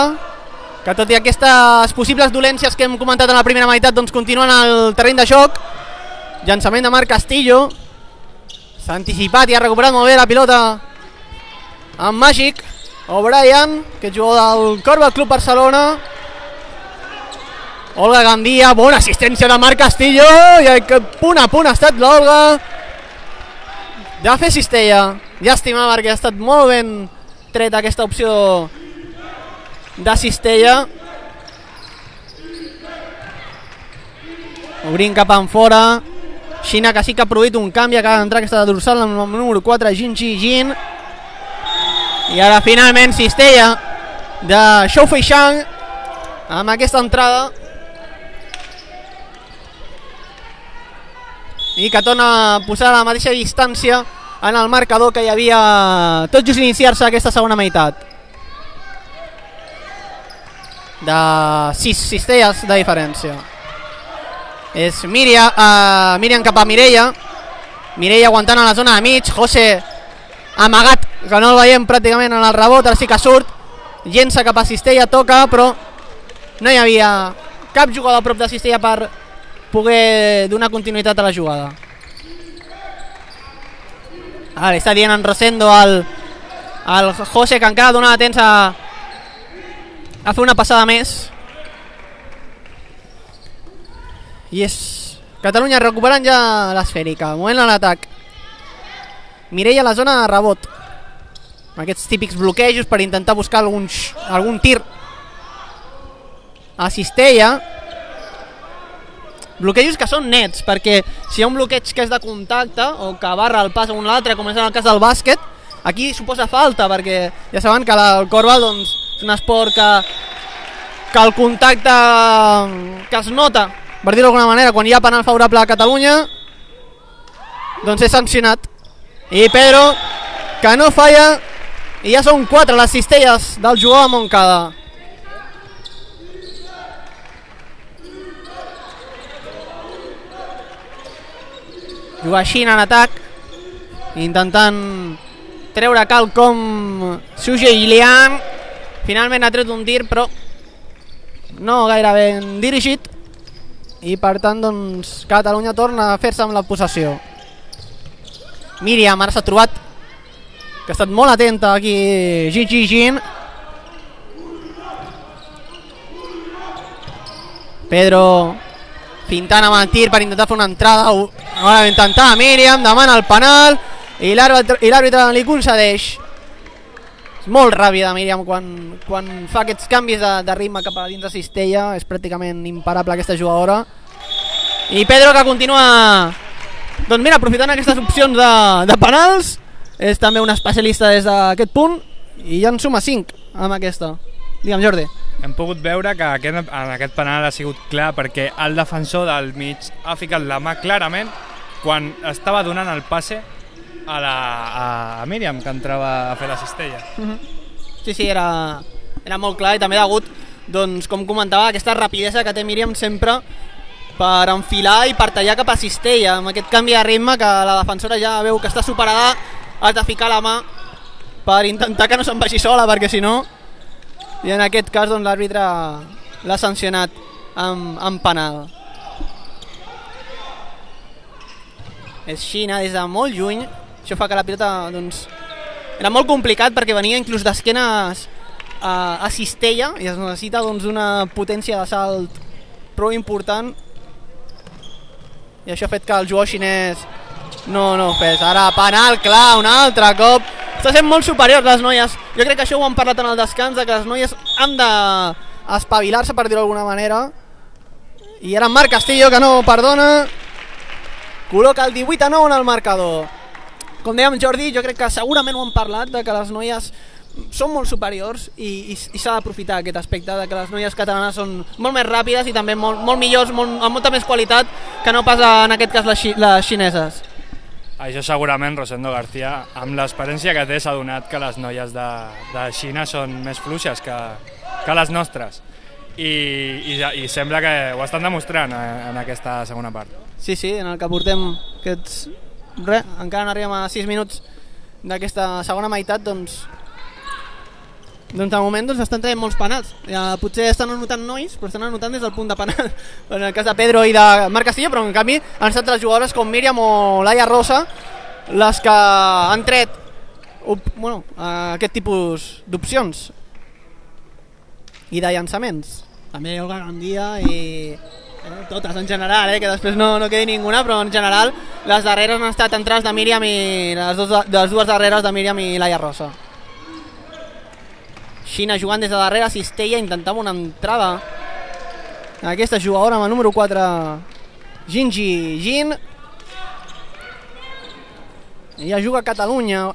que tot i aquestes possibles dolències que hem comentat en la primera meitat doncs continuen al terreny de joc. Llançament de Marc Castillo, s'ha anticipat i ha recuperat molt bé la pilota amb Màgic. O'Brien, que és jugador del Corba Club Barcelona. Olga Gandia, bona assistència de Marc Castillo, i que punt a punt ha estat l'Olga de fer cistella. Llàstima perquè ha estat molt ben tret aquesta opció de cistella. Obrint cap en fora. Xina, que sí que ha produït un canvi, acaba d'entrar aquesta dorsal amb el número quatre, Jin Chi Jin. I ara finalment cistella de Shou Feishang amb aquesta entrada, i que torna a posar a la mateixa distància en el marcador que hi havia tot just iniciar-se aquesta segona meitat, de sis cistelles de diferència. És Míriam, uh, Míriam cap a Mireia. Mireia aguantant a la zona de mig. José amagat, que no el veiem pràcticament en el rebot, ara sí que surt, llença cap a cistella, toca, però no hi havia cap jugador a prop de cistella per poder donar continuïtat a la jugada. Ara li està dient en Rosendo al, al José que encara donava temps a, a fer una passada més. I és Catalunya recuperant ja l'esfèrica. Moment a l'atac. Mireia a la zona de rebot, aquests típics bloquejos per intentar buscar algun, algun tir a cistella. Bloquejos que són nets, perquè si hi ha un bloqueig que és de contacte o que barra el pas a un altre, com és en el cas del bàsquet, aquí suposa falta, perquè ja saben que el Corval doncs, és un esport que, que el contacte que es nota, per dir-ho d'alguna manera, quan hi ha penal favorable a Catalunya, doncs és sancionat. I Pedro, que no falla, i ja són quatre les cistelles del jugador de Montcada. Juga Xina en atac, intentant treure quelcom Suje Ilian. Finalment ha tret un tir, però no gaire ben dirigit, i per tant doncs Catalunya torna a fer-se amb la possessió. Míriam ara s'ha trobat, que ha estat molt atenta aquí Jin Chi Jin. Pedro pintant amb el tir per intentar fer una entrada. Ara intentar Míriam, demana el penal i l'àrbitre li concedeix. És molt ràpida Míriam quan, quan fa aquests canvis de, de ritme cap a dins de cistella. És pràcticament imparable aquesta jugadora. I Pedro, que continua doncs mira, aprofitant aquestes opcions de, de penals, és també un especialista des d'aquest punt, i ja en suma cinc amb aquesta. Digue'm, Jordi. Hem pogut veure que aquest, en aquest penal ha sigut clar perquè el defensor del mig ha ficat la mà clarament quan estava donant el passe a, la, a, a Míriam, que entrava a fer la cistella. Uh-huh. Sí, sí, era, era molt clar, i també degut, doncs, com comentava, aquesta rapidesa que té Míriam sempre per enfilar i per tallar cap a cistella. Amb aquest canvi de ritme que la defensora ja veu que està superada, has de ficar la mà per intentar que no se'n vagi sola, perquè si no, i en aquest cas doncs, l'àrbitre l'ha sancionat amb, amb penal. És Xina des de molt lluny. Això fa que la pilota doncs, era molt complicat perquè venia inclús d'esquenes a, a cistella, i es necessita doncs, una potència de salt prou important, i això ha fet que el jugador xinès no, no fes. Ara penal, clar, un altre cop. Està sent molt superior les noies. Jo crec que això ho han parlat en el descans, que les noies han d'espavilar-se, per dir-ho d'alguna manera. I ara Marc Castillo, que no perdona, col·loca el divuit a nou en el marcador. Com dèiem, Jordi, jo crec que segurament ho han parlat, de que les noies són molt superiors, i, i, i s'ha d'aprofitar aquest aspecte, de que les noies catalanes són molt més ràpides i també molt, molt millors, molt, amb molta més qualitat que no pas en aquest cas les, les xineses. Això segurament Rosendo García, amb l'experiència que té, s'ha donat que les noies de, de Xina són més fluixes que, que les nostres, I, i, i sembla que ho estan demostrant en aquesta segona part. Sí, sí, en el que portem aquests... Re, encara no arribem a sis minuts d'aquesta segona meitat, doncs Doncs de moment doncs, estan traient molts penals. Ja, potser estan anotant nois, però estan anotant des del punt de penal. En el cas de Pedro i de Marc Castillo, però en canvi han estat les jugadores com Míriam o Laia Rosa les que han tret bueno, aquest tipus d'opcions i de llançaments. També Olga Gandia i eh, totes en general, eh, que després no, no quedi ninguna, però en general les darreres han estat entrades de Míriam i les, dos, les dues darreres de Míriam i Laia Rosa. Xina jugant des de darrere, Cistella intentava una entrada. Aquesta jugadora amb el número quatre, Gingi Gin. I ja juga Catalunya.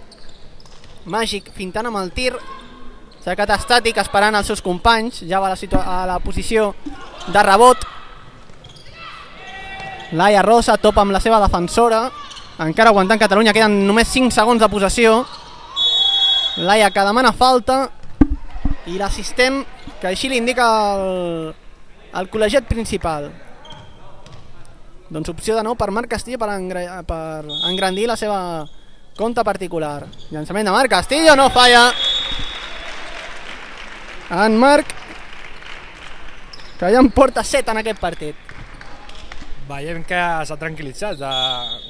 Màgic fintant amb el tir. S'ha quedat estàtic esperant els seus companys. Ja va a la, a la posició de rebot. Laia Rosa topa amb la seva defensora. Encara aguantant Catalunya, queden només cinc segons de possessió. Laia que demana falta. I l'assistent, que així li indica el, el col·legiat principal. Doncs opció de nou per Marc Castillo per, engra, per engrandir la seva compte particular. Llançament de Marc Castillo, no falla. En Marc, que ja en porta set en aquest partit. Veiem que s'ha tranquil·litzat de,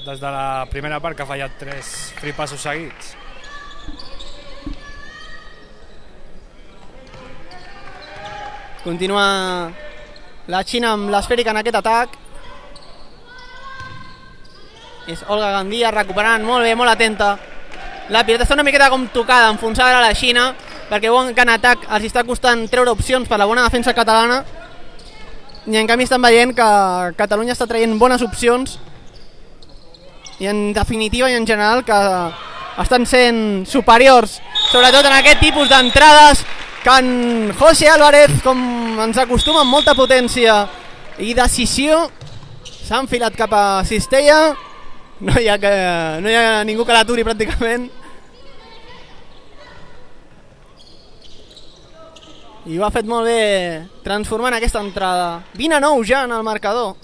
des de la primera part, que ha fallat tres free passos seguits. Continua la Xina amb l'esfèrica en aquest atac. És Olga Gandia recuperant molt bé, molt atenta. La pilota està una miqueta com tocada, enfonsada a la Xina, perquè veuen que en atac els està costant treure opcions per la bona defensa catalana, i en canvi estan veient que Catalunya està traient bones opcions i en definitiva i en general que estan sent superiors, sobretot en aquest tipus d'entrades, que en José Álvarez, com ens acostuma, amb molta potència i decisió, s'ha enfilat cap a Cistella. No hi ha, que, no hi ha ningú que l'aturi pràcticament. I ho ha fet molt bé transformant aquesta entrada. vint a nou ja en el marcador.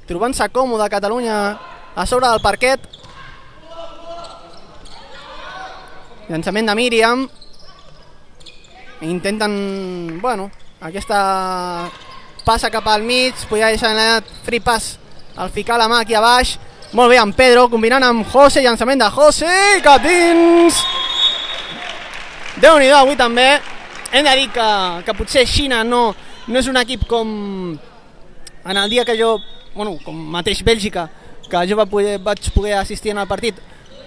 Trobant-se còmode Catalunya a sobre del parquet. Llançament de Míriam. Intenten, bueno, aquesta passa cap al mig, podia deixar anat free pass al ficar la mà aquí a baix. Molt bé amb Pedro, combinant amb José, llançament de José, cap dins. Déu-n'hi-do avui també. Hem de dir que, que potser Xina no, no és un equip com en el dia que jo, bueno, com mateix Bèlgica, que jo va poder, vaig poder assistir en el partit,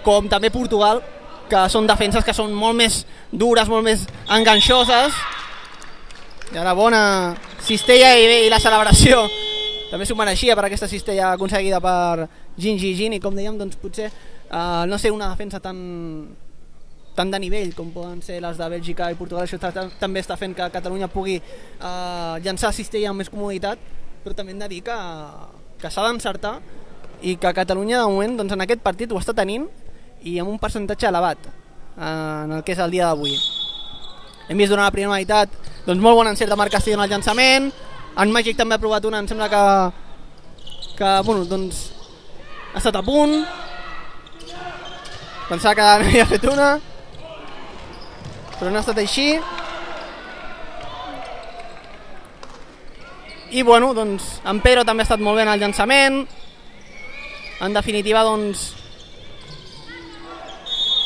com també Portugal, que són defenses que són molt més dures, molt més enganxoses. I ara bona cistella i, i la celebració també s'ho mereixia per aquesta cistella aconseguida per Gingi Gin, i com dèiem, doncs potser eh, no sé, una defensa tan tant de nivell com poden ser les de Bèlgica i Portugal. Això també està fent que Catalunya pugui eh, llançar cistella amb més comoditat, però també hem de dir que, que s'ha d'encertar i que Catalunya de moment doncs, en aquest partit ho està tenint i amb un percentatge elevat en el que és el dia d'avui. Hem vist durant la primera meitat doncs, molt bon encert de Marc Castillo en el llançament. En Màgic també ha provat una, em sembla que, que bueno, doncs, ha estat a punt. Pensava que no havia fet una, però no ha estat així. I bueno, doncs, en Pedro també ha estat molt bé en el llançament. En definitiva, doncs,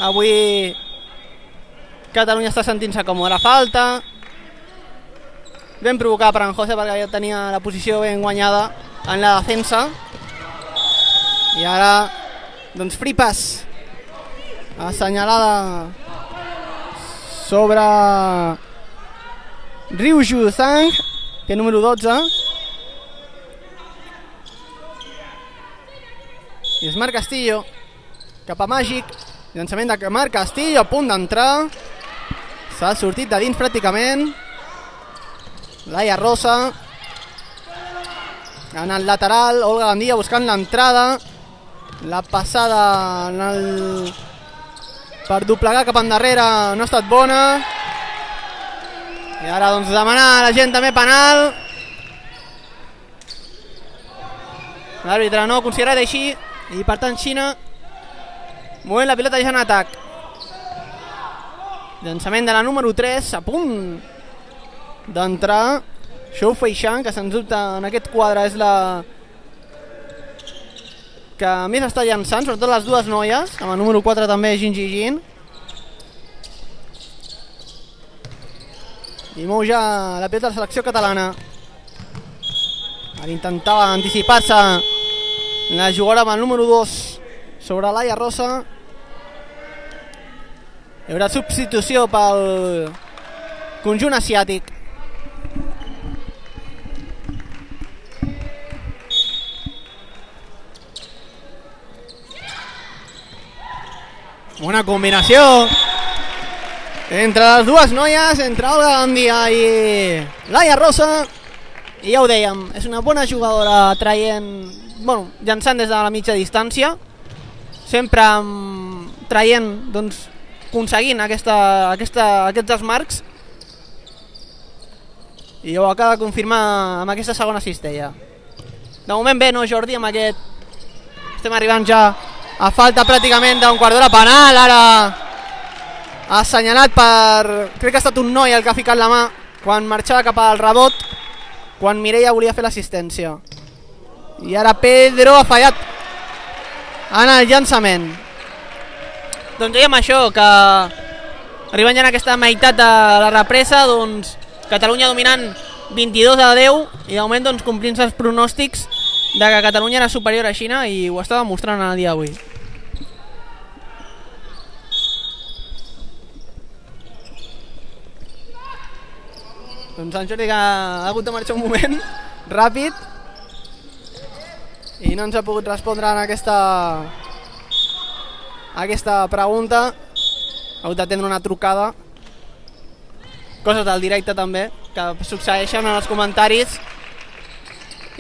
avui Catalunya està sentint-se còmode. La falta ben provocada per en José, perquè ja tenia la posició ben guanyada en la defensa. I ara doncs free pass assenyalada sobre Ryu Ju Zhang, que és número dotze, i és Marc Castillo cap a Màgic. Llançament de Marc Castillo, a punt d'entrar, s'ha sortit de dins pràcticament. Laia Rosa en el lateral, Olga Gandia buscant l'entrada, la passada en el... per doblegar cap endarrere no ha estat bona, i ara doncs demanar a la gent també penal. L'àrbitre no ha considerat així i per tant Xina movent la pilota ja en atac. Llançament de la número tres, a punt d'entrar Xu Feixan, que sens dubte en aquest quadre és la que més està llançant, sobretot les dues noies, amb el número quatre també Jin Ji Jin. I mou ja la pilota de la selecció catalana. Ara intentava anticipar-se la jugadora amb el número dos sobre Laia Rosa. Hi haurà substitució pel conjunt asiàtic. Bona combinació entre les dues noies, entre Olga Gandia i Laia Rosa. I ja ho dèiem, és una bona jugadora traient, bueno, llançant des de la mitja distància, sempre um, traient, doncs, aconseguint aquesta, aquesta, aquests desmarcs, i ho acaba de confirmar amb aquesta segona cistella. De moment bé, no, Jordi, amb aquest estem arribant ja a falta pràcticament d'un quart d'hora penal. Ara assenyalat per, crec que ha estat un noi el que ha ficat la mà quan marxava cap al rebot, quan Mireia volia fer l'assistència. I ara Pedro ha fallat en el llançament. Doncs dèiem això, que arribant ja en aquesta meitat de la represa, doncs Catalunya dominant vint-i-dos a deu, i de moment doncs complint-se els pronòstics de que Catalunya era superior a Xina, i ho està demostrant el dia d'avui. Doncs en Jordi, que ha hagut de marxar un moment ràpid i no ens ha pogut respondre en aquesta aquesta pregunta. Ha hagut d'atendre una trucada, coses del directe també que succeeixen en els comentaris,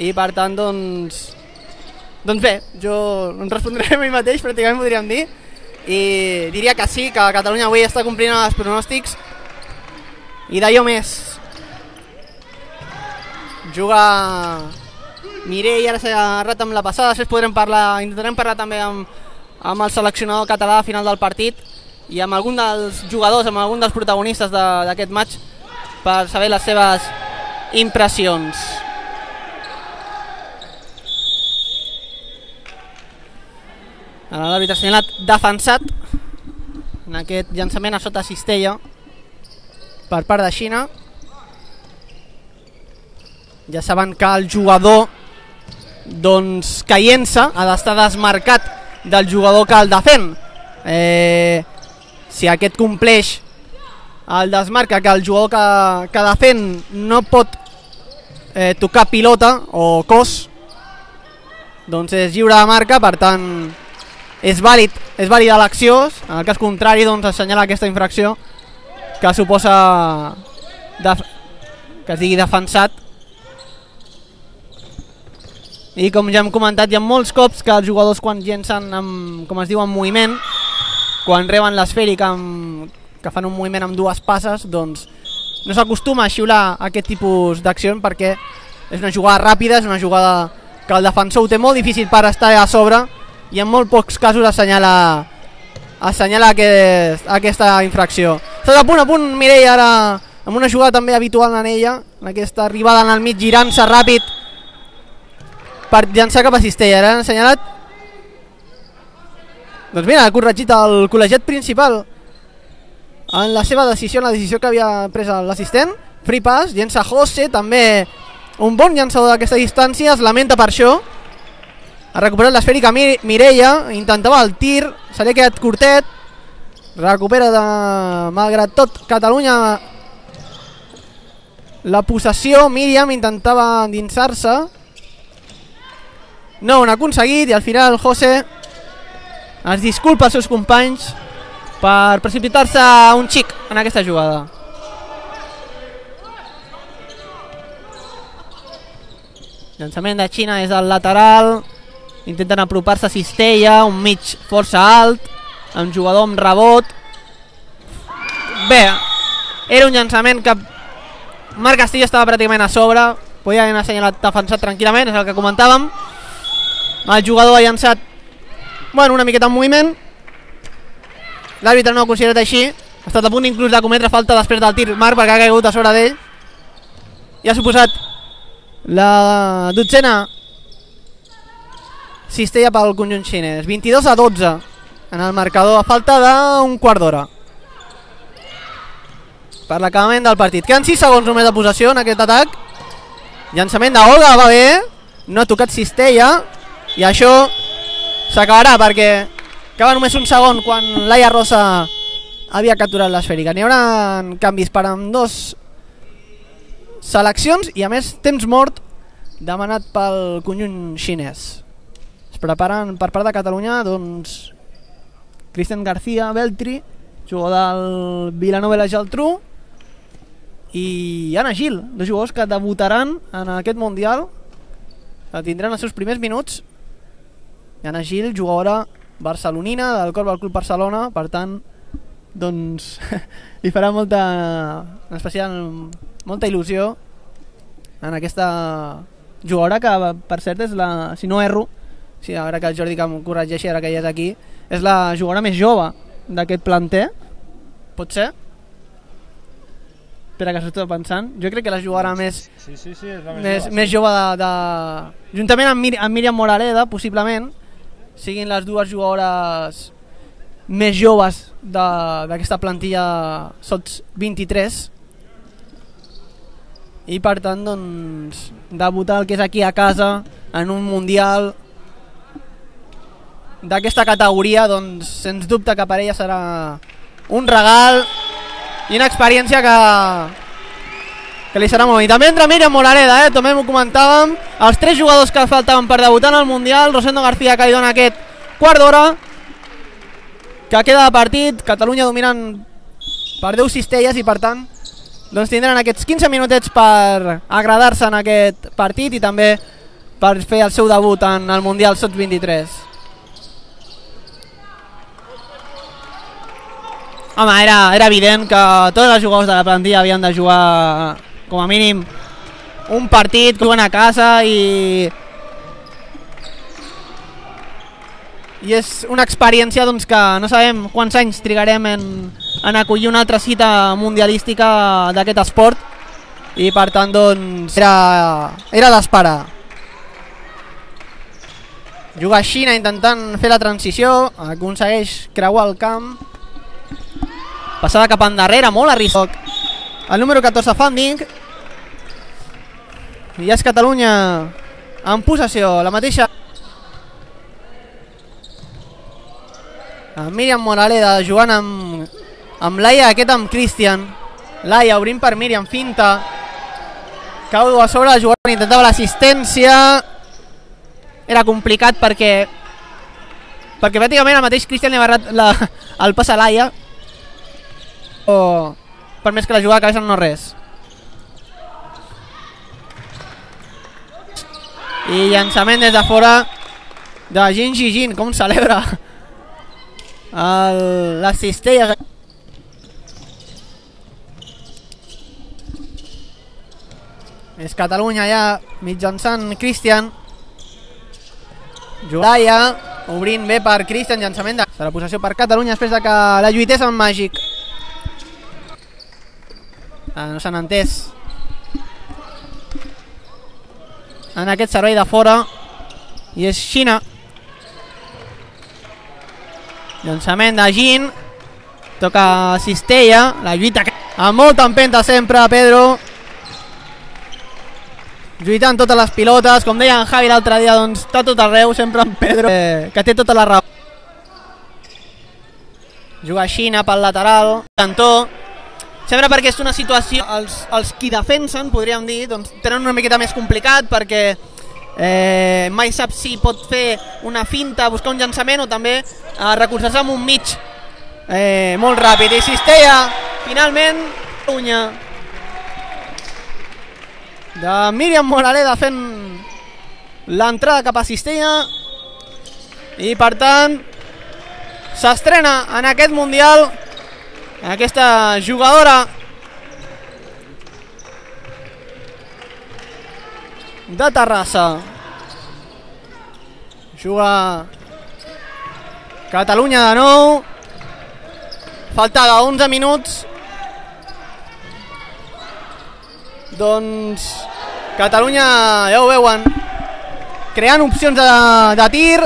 i per tant doncs doncs bé, jo em respondré a mi mateix, pràcticament podríem dir, i diria que sí, que Catalunya avui està complint els pronòstics i d'allò més. Juga Mireia, ara s'ha agarrat amb la passada, després podrem parlar, intentarem parlar també amb, amb el seleccionador català al final del partit i amb algun dels jugadors, amb algun dels protagonistes d'aquest match, per saber les seves impressions. L'àrbitre ha assenyalat defensat en aquest llançament a sota cistella per part de Xina. Ja saben que el jugador doncs caient-se ha d'estar desmarcat del jugador que el defèn. Eh, si aquest compleix el desmarca, que el jugador que, que defèn no pot eh, tocar pilota o cos, doncs és lliure de marca, per tant és vàlid, és vàlida l'acció. En el cas contrari doncs assenyala aquesta infracció que suposa def que es digui defensat. I com ja hem comentat, hi ha molts cops que els jugadors quan llencen amb, com es diu, en moviment, quan reben l'esfèrica que fan un moviment amb dues passes, doncs no s'acostuma a xiular aquest tipus d'accions, perquè és una jugada ràpida, és una jugada que el defensor ho té molt difícil per estar a sobre, i en molt pocs casos assenyala, assenyala aquest, aquesta infracció. Està a punt, a punt Mireia ara, amb una jugada també habitual en ella, en aquesta arribada en el mig, girant-se ràpid per llançar cap a cistella. Ara han assenyalat, doncs mira, ha corregit el col·legiat principal en la seva decisió, en la decisió que havia pres l'assistent. Free pass, llença José, també un bon llançador d'aquesta distància, es lamenta per això. Ha recuperat l'esfèrica Mireia, intentava el tir, se li ha quedat curtet, recupera de, malgrat tot, Catalunya la possessió. Míriam intentava endinsar-se, no ho han aconseguit, i al final José es disculpa als seus companys per precipitar-se un xic en aquesta jugada. Llançament de Xina és del lateral, intenten apropar-se a cistella, un mig força alt, amb jugador amb rebot. Bé, era un llançament que Marc Castillo estava pràcticament a sobre, podia haver assenyalat defensat tranquil·lament, és el que comentàvem. El jugador ha llançat, bueno, una miqueta en moviment, l'àrbitre no ho ha considerat així, Ha estat a punt inclús de cometre falta després del tir Marc, perquè ha caigut a sobre d'ell. I ha suposat la dotzena cistella pel conjunt xinès. vint-i-dos a dotze en el marcador, a falta d'un quart d'hora per l'acabament del partit. Queden sis segons només de possessió en aquest atac. Llançament d'Olga, va bé, no ha tocat cistella, i això s'acabarà perquè acaba només un segon quan Laia Rosa havia capturat l'esfèrica. N'hi haurà canvis per amb dos seleccions i a més temps mort demanat pel conjunt xinès. Es preparen per part de Catalunya doncs Cristian García Beltri, jugador del Vilanova i la Geltrú, i Anna Gil, dos jugadors que debutaran en aquest Mundial, que tindran els seus primers minuts. I Anna Gil, jugadora barcelonina del Corbal Club Barcelona, per tant doncs li farà molta, en especial molta il·lusió en aquesta jugadora que per cert és la, si no erro, sí, ara que el Jordi que em corregeixi ara que ja és aquí, és la jugadora més jove d'aquest planter, pot ser? Espera que s'ho estic pensant, jo crec que la jugadora més sí, sí, sí, és la més, més, jove, més sí. jove de, de... juntament amb, Mir amb Míriam Moraleda, possiblement siguin les dues jugadores més joves d'aquesta plantilla sots vint-i-tres, i per tant doncs debutar el que és aquí a casa en un mundial d'aquesta categoria, doncs sens dubte que per ella serà un regal i una experiència que que li serà molt. I també entra Míriam Moraleda, eh? També m'ho comentàvem, els tres jugadors que faltaven per debutar en el Mundial. Rosendo García que li dona aquest quart d'hora que queda de partit, Catalunya dominant per deu cistelles, i per tant doncs tindran aquests quinze minutets per agradar-se en aquest partit i també per fer el seu debut en el Mundial sots vint-i-tres. Home, era, era evident que tots els jugadors de la plantilla havien de jugar com a mínim un partit que juguen a casa, i i és una experiència doncs, que no sabem quants anys trigarem en, en acollir una altra cita mundialística d'aquest esport, i per tant doncs era, era d'esperar. Juga Xina intentant fer la transició, aconsegueix creuar el camp, passada cap endarrere, molt a risc el número catorze Funding, i ja és Catalunya en possessió, la mateixa amb Míriam Moraleda jugant amb, amb Laia, aquest amb Cristian. Laia obrint per Míriam, finta, cau a sobre el jugador, intentava l'assistència, era complicat perquè perquè pràcticament el mateix Cristian li ha barrat la, el pas a Laia, o per més que la jugada de cabeza no res. I llançament des de fora de Jin Jijin, com celebra el, les cistelles. És Catalunya ja mitjançant Cristian, Laia obrint bé per Cristian, llançament de la possessió per Catalunya després de que la lluités amb Màgic. Ah, no s'han entès en aquest servei de fora, i és Xina. Llançament de Jin, toca cistella, la lluita amb molta empenta sempre Pedro, lluitant totes les pilotes, com deia en Javi l'altre dia, doncs està tot arreu sempre en Pedro, eh, que té tota la raó. Juga Xina pel lateral, cantó, sempre perquè és una situació, els, els qui defensen, podríem dir, doncs tenen una miqueta més complicat, perquè eh, mai sap si pot fer una finta, buscar un llançament, o també eh, recolzar-se amb un mig eh, molt ràpid. I cistella, finalment, Catalunya de Míriam Moraleda fent l'entrada cap a cistella, i per tant s'estrena en aquest Mundial aquesta jugadora de Terrassa. Juga Catalunya de nou, falta d'onze minuts. Doncs Catalunya, ja ho veuen, creant opcions de, de tir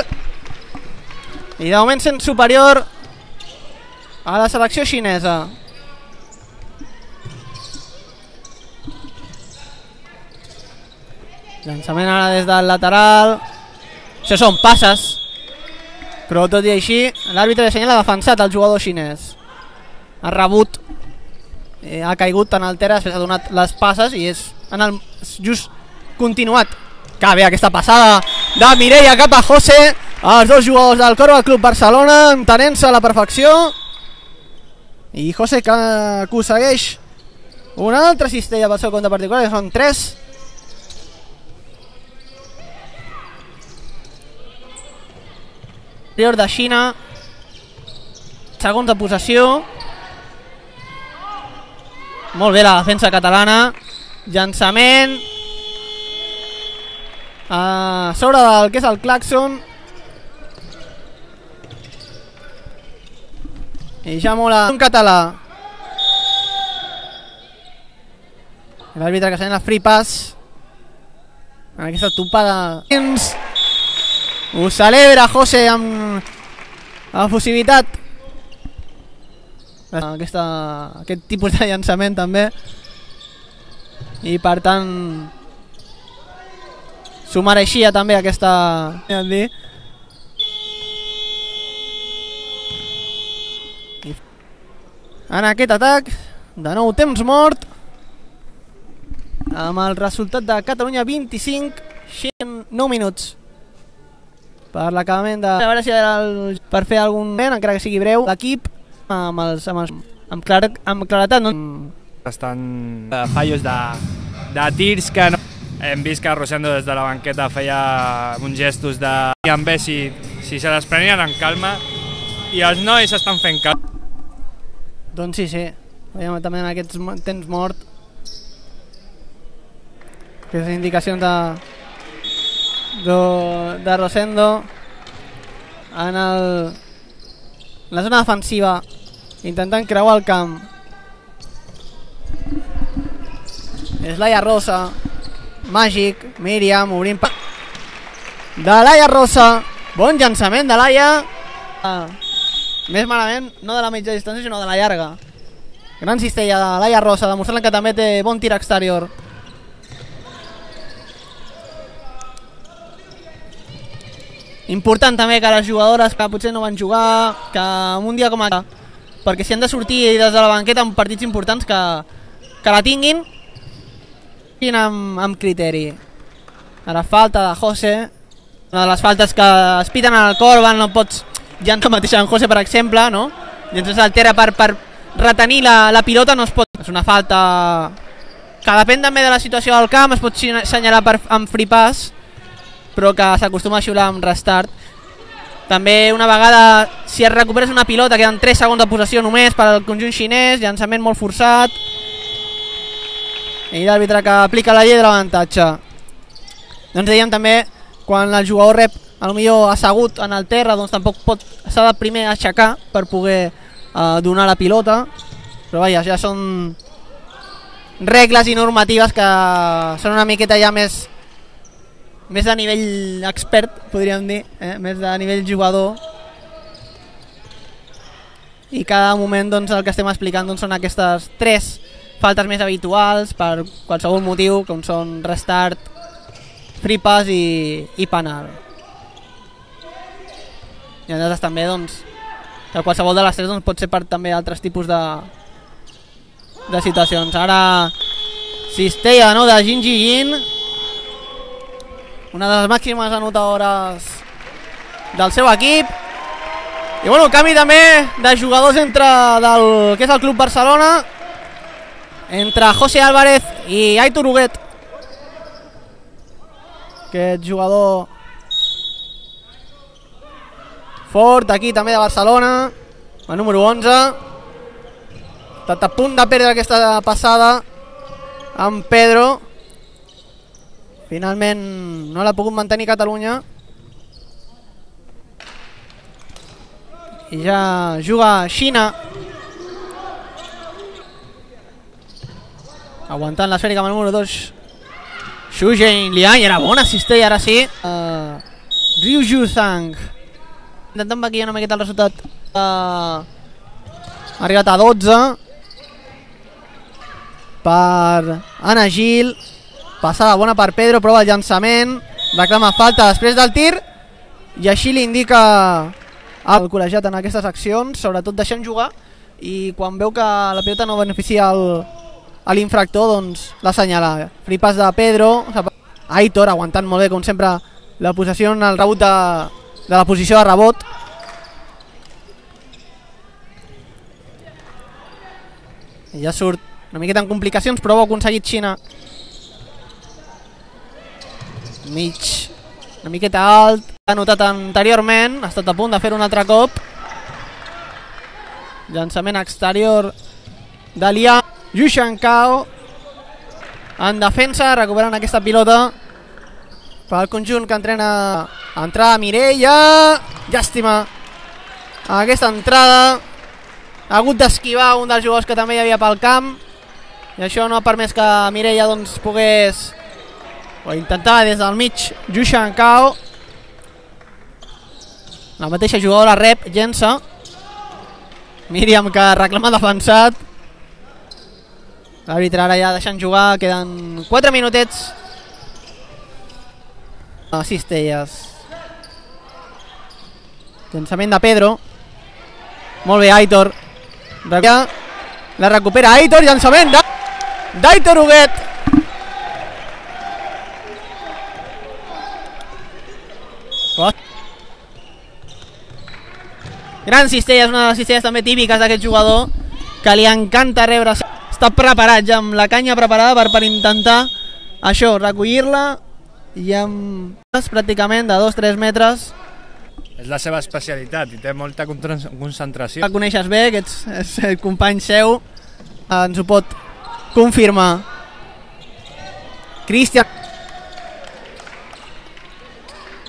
i de moment sent superior a la selecció xinesa. Llançament ara des del lateral. Això són passes, però tot i així l'àrbitre de senyal ha defensat el jugador xinès. Ha rebut, eh, ha caigut en el terra, després ha donat les passes i és en el just continuat. Que bé aquesta passada de Mireia cap a José, els dos jugadors del Corba Club Barcelona entenent-se a la perfecció, i José que aconsegueix una altra cistella pel seu compte particular, que són tres. Interior de Xina, segons de possessió. Molt bé la defensa catalana. Llançament a sobre del que és el claxon, i ja mola un català. L'àrbitre que sent la free pass en aquesta topada. Ho celebra José amb efusivitat. Aquesta, aquest tipus de llançament també, i per tant s'ho mereixia també aquesta. En aquest atac de nou temps mort, amb el resultat de Catalunya vint-i-cinc, nou minuts per l'acabament de... A veure si el... per fer algun moment, encara que sigui breu, l'equip amb els... amb, els... amb, clar... amb claretat, no? Estan uh, fallos de, de tirs que no... Hem vist que Rosendo des de la banqueta feia uns gestos de... I en bé si, si se les prenien en calma, i els nois estan fent calma. Doncs sí, sí. Veiem també en aquests temps mort aquestes indicacions de... De, de Rosendo en el, la zona defensiva, intentant creuar el camp. És Laia Rosa, Màgic, Míriam obrint pa... de Laia Rosa, bon llançament de Laia, ah, més malament no de la mitja distància sinó de la llarga. Gran cistella de Laia Rosa, demostrant que també té bon tir exterior. Important també que les jugadores que potser no van jugar, que en un dia com ara, perquè si han de sortir des de la banqueta en partits importants, que, que la tinguin amb, amb criteri. Ara falta de José, una de les faltes que es piten al Corban, no pots llançar mateix en José, per exemple, no? Llançar al terra per, per retenir la, la pilota, no es pot. És una falta que depèn també de la situació del camp, es pot assenyalar per, amb free pass, però que s'acostuma a xiular amb restart. També una vegada, si es recuperes una pilota, queden tres segons de possessió només per al conjunt xinès, llançament molt forçat, i l'àrbitre que aplica la llei de l'avantatge. Doncs dèiem també, quan el jugador rep potser assegut en el terra, doncs tampoc pot, s'ha de primer aixecar per poder eh, donar la pilota, però vaja, ja són regles i normatives que són una miqueta ja més més de nivell expert, podríem dir, eh? Més de nivell jugador, i cada moment doncs, el que estem explicant doncs, són aquestes tres faltes més habituals per qualsevol motiu, com són restart, free pass i, i penal. I llavors també doncs, que qualsevol de les tres doncs, pot ser per també altres tipus de, de situacions. Ara cistella, no?, de Jin Ji-yin, una de les màximes anotadores del seu equip. I bueno, canvi també de jugadors entre del que és el Club Barcelona, entre José Álvarez i Aitor Huguet. Aquest jugador fort aquí també de Barcelona, el número onze, està a punt de perdre aquesta passada amb Pedro. Finalment no l'ha pogut mantenir Catalunya, i ja juga Xina aguantant l'esfèrica amb el número dos, Xu Zhenliang, i era bona cistella, ara sí. Uh, Ryu Ju Zhang intentant maquillar una miqueta el resultat. Uh, ha arribat a dotze per Anna Gil. Passada bona per Pedro, prova el llançament, reclama falta després del tir i així li indica el col·legiat en aquestes accions, sobretot deixant jugar, i quan veu que la pilota no beneficia l'infractor, doncs l'assenyala. Free pass de Pedro, Aitor aguantant molt bé com sempre la possessió en el rebot de, de la posició de rebot. I ja surt una miqueta en complicacions, però ho ha aconseguit Xina. Mig una miqueta alt, ha notat anteriorment, ha estat a punt de fer un altre cop. Llançament exterior de Liang. Yu Shankao en defensa, recuperant aquesta pilota pel conjunt que entrena. Entrada Mireia, llàstima aquesta entrada, ha hagut d'esquivar un dels jugadors que també hi havia pel camp i això no ha permès que Mireia doncs pogués, o intentava des del mig Yu Shankao. La mateixa jugadora rep, llença. Míriam que reclama defensat. L'àrbitre ara ja deixant jugar, queden quatre minutets. Cistelles. Llançament de Pedro. Molt bé, Aitor. La recupera Aitor, llançament d'Aitor Huguet. Gran cistella, és una de les cistelles també típiques d'aquest jugador, que li encanta rebre. Està preparat ja, amb la canya preparada per, per intentar això, recollir-la, i amb pràcticament de dos a tres metres. És la seva especialitat i té molta concentració. La coneixes bé, que ets, és el company seu, ens ho pot confirmar. Cristian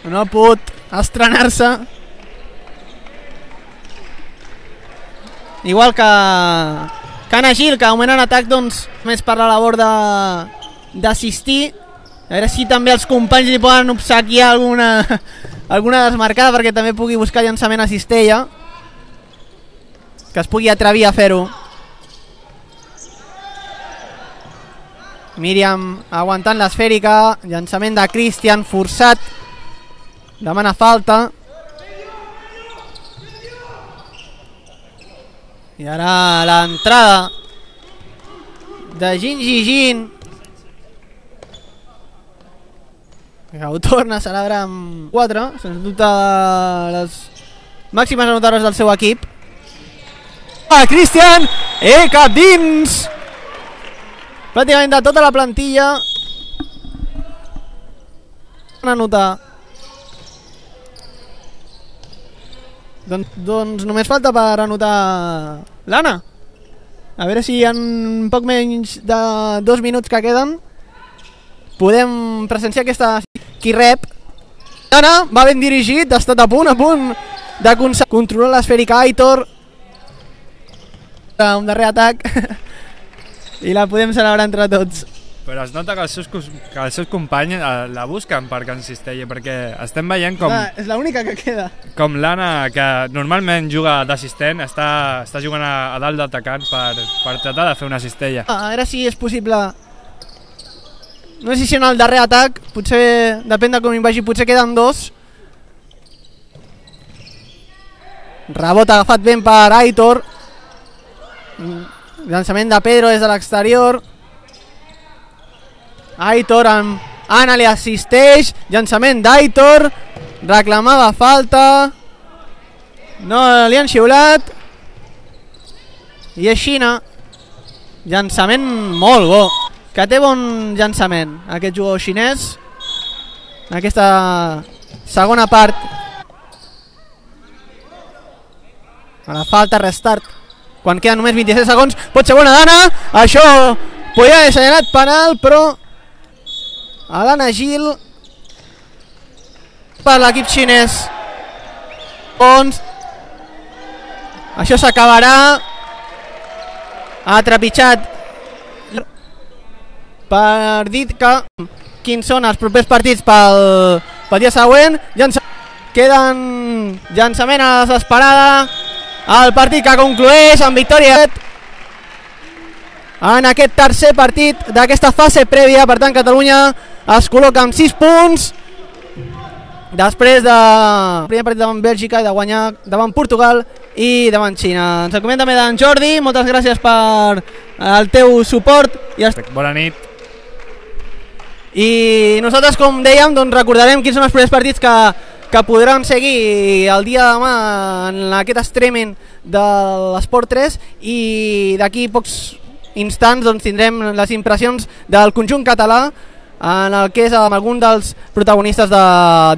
no ha pogut estrenar-se, igual que Anna Gil, que augment en atac, doncs més per la labor d'assistir. A veure si també els companys li poden obsequiar alguna, alguna desmarcada perquè també pugui buscar llançament a cistella, que es pugui atrevir a fer-ho. Míriam aguantant l'esfèrica, llançament de Cristian forçat, demana falta. I ara l'entrada de Jin Jijin, que ho torna a celebrar amb quatre, sens dubte les màximes anotadores del seu equip. Ah, Cristian, eh, cap dins! Pràcticament de tota la plantilla anotar. Doncs, doncs només falta per anotar l'Anna. A veure si en poc menys de dos minuts que queden podem presenciar aquesta... Qui rep. L'Anna va ben dirigit, ha estat a punt, a punt de controlar l'esfèrica Aitor. Un darrer atac i la podem celebrar entre tots. Però es nota que els seus, que els seus companys la busquen per Can Cistella, perquè estem veient com... Ah, és l'única que queda. Com l'Anna, que normalment juga d'assistent, està, està jugant a, a dalt d'atacant per, per tratar de fer una cistella. Ah, a veure si és possible. No sé si en el darrer atac, potser, depèn de com hi vagi, potser queden dos. Rebot agafat ben per Aitor. Llançament de Pedro des de l'exterior. Aitor amb Anna li assisteix, llançament d'Aitor, reclamava falta, no li han xiulat, i és Xina. Llançament molt bo, que té bon llançament aquest jugador xinès en aquesta segona part. A la falta, restart, quan queden només vint-i-set segons, pot ser bona d'Anna, això podria haver assenyalat penal, però a l'Anna Gil per l'equip xinès. Doncs això s'acabarà. Ha trepitjat per dir que quins són els propers partits pel, pel dia següent. Llança, queden llançament a la desesperada, el partit que conclueix amb victòria en aquest tercer partit d'aquesta fase prèvia. Per tant, Catalunya es col·loca amb sis punts després del primer partit davant Bèlgica i de guanyar davant Portugal i davant Xina. Ens acomiadem també d'en Jordi, moltes gràcies per el teu suport. I bona nit. I nosaltres, com dèiem, doncs recordarem quins són els primers partits que, que podran seguir el dia de demà en aquest streaming de l'Esport tres, i d'aquí pocs instants doncs, tindrem les impressions del conjunt català en el que és amb algun dels protagonistes de,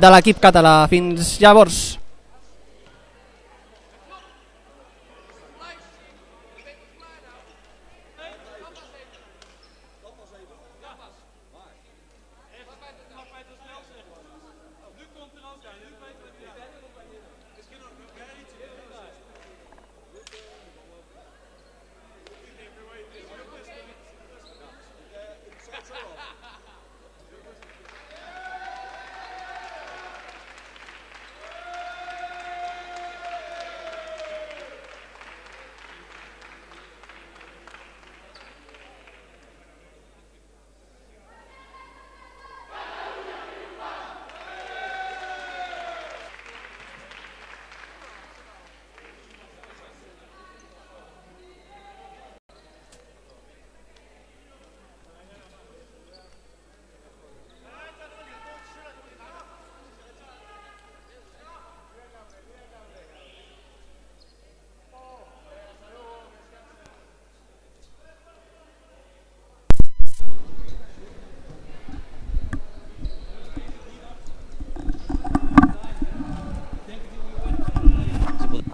de l'equip català. Fins llavors.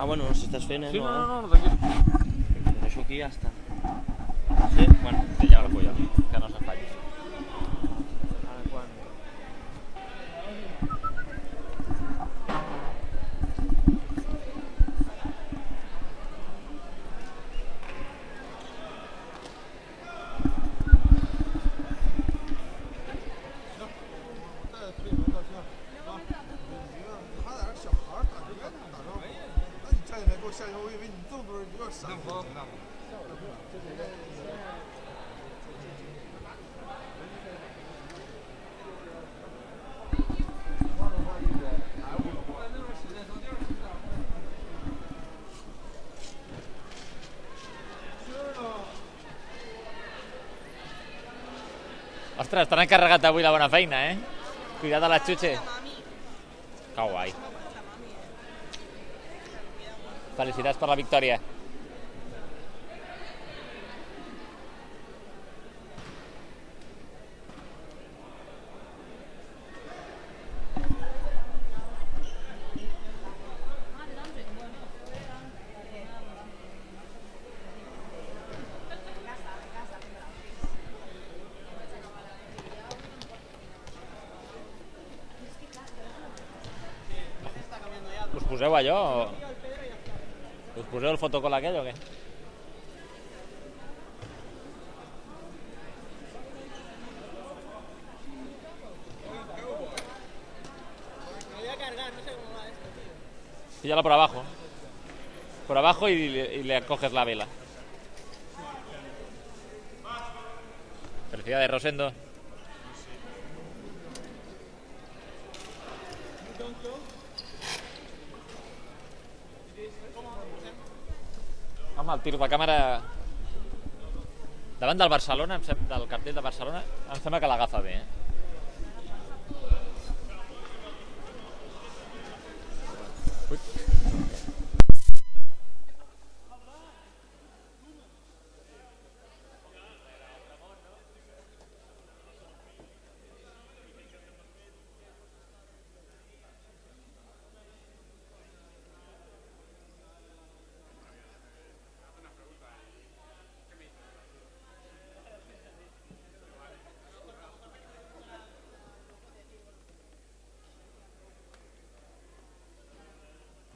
Ah, bueno, no s'estàs fent, eh? Sí, no, no, eh? no, no, tranquil. Ho deixo aquí i ja està. Sí? Bueno, que ja la polla, que no se'n faci. Ara quan... Ostres, t'han encarregat avui la bona feina, eh? Cuida't de la xutxe. Que guai. Felicitats per la victòria. Us poseu allò o... Us poseu el fotocol aquell o què? Píllala por abajo. Por abajo y, y le coges la vela. Felicidades, Rosendo. Home, el tiro de càmera davant del Barcelona, del cartell de Barcelona, em sembla que l'agafa bé, eh?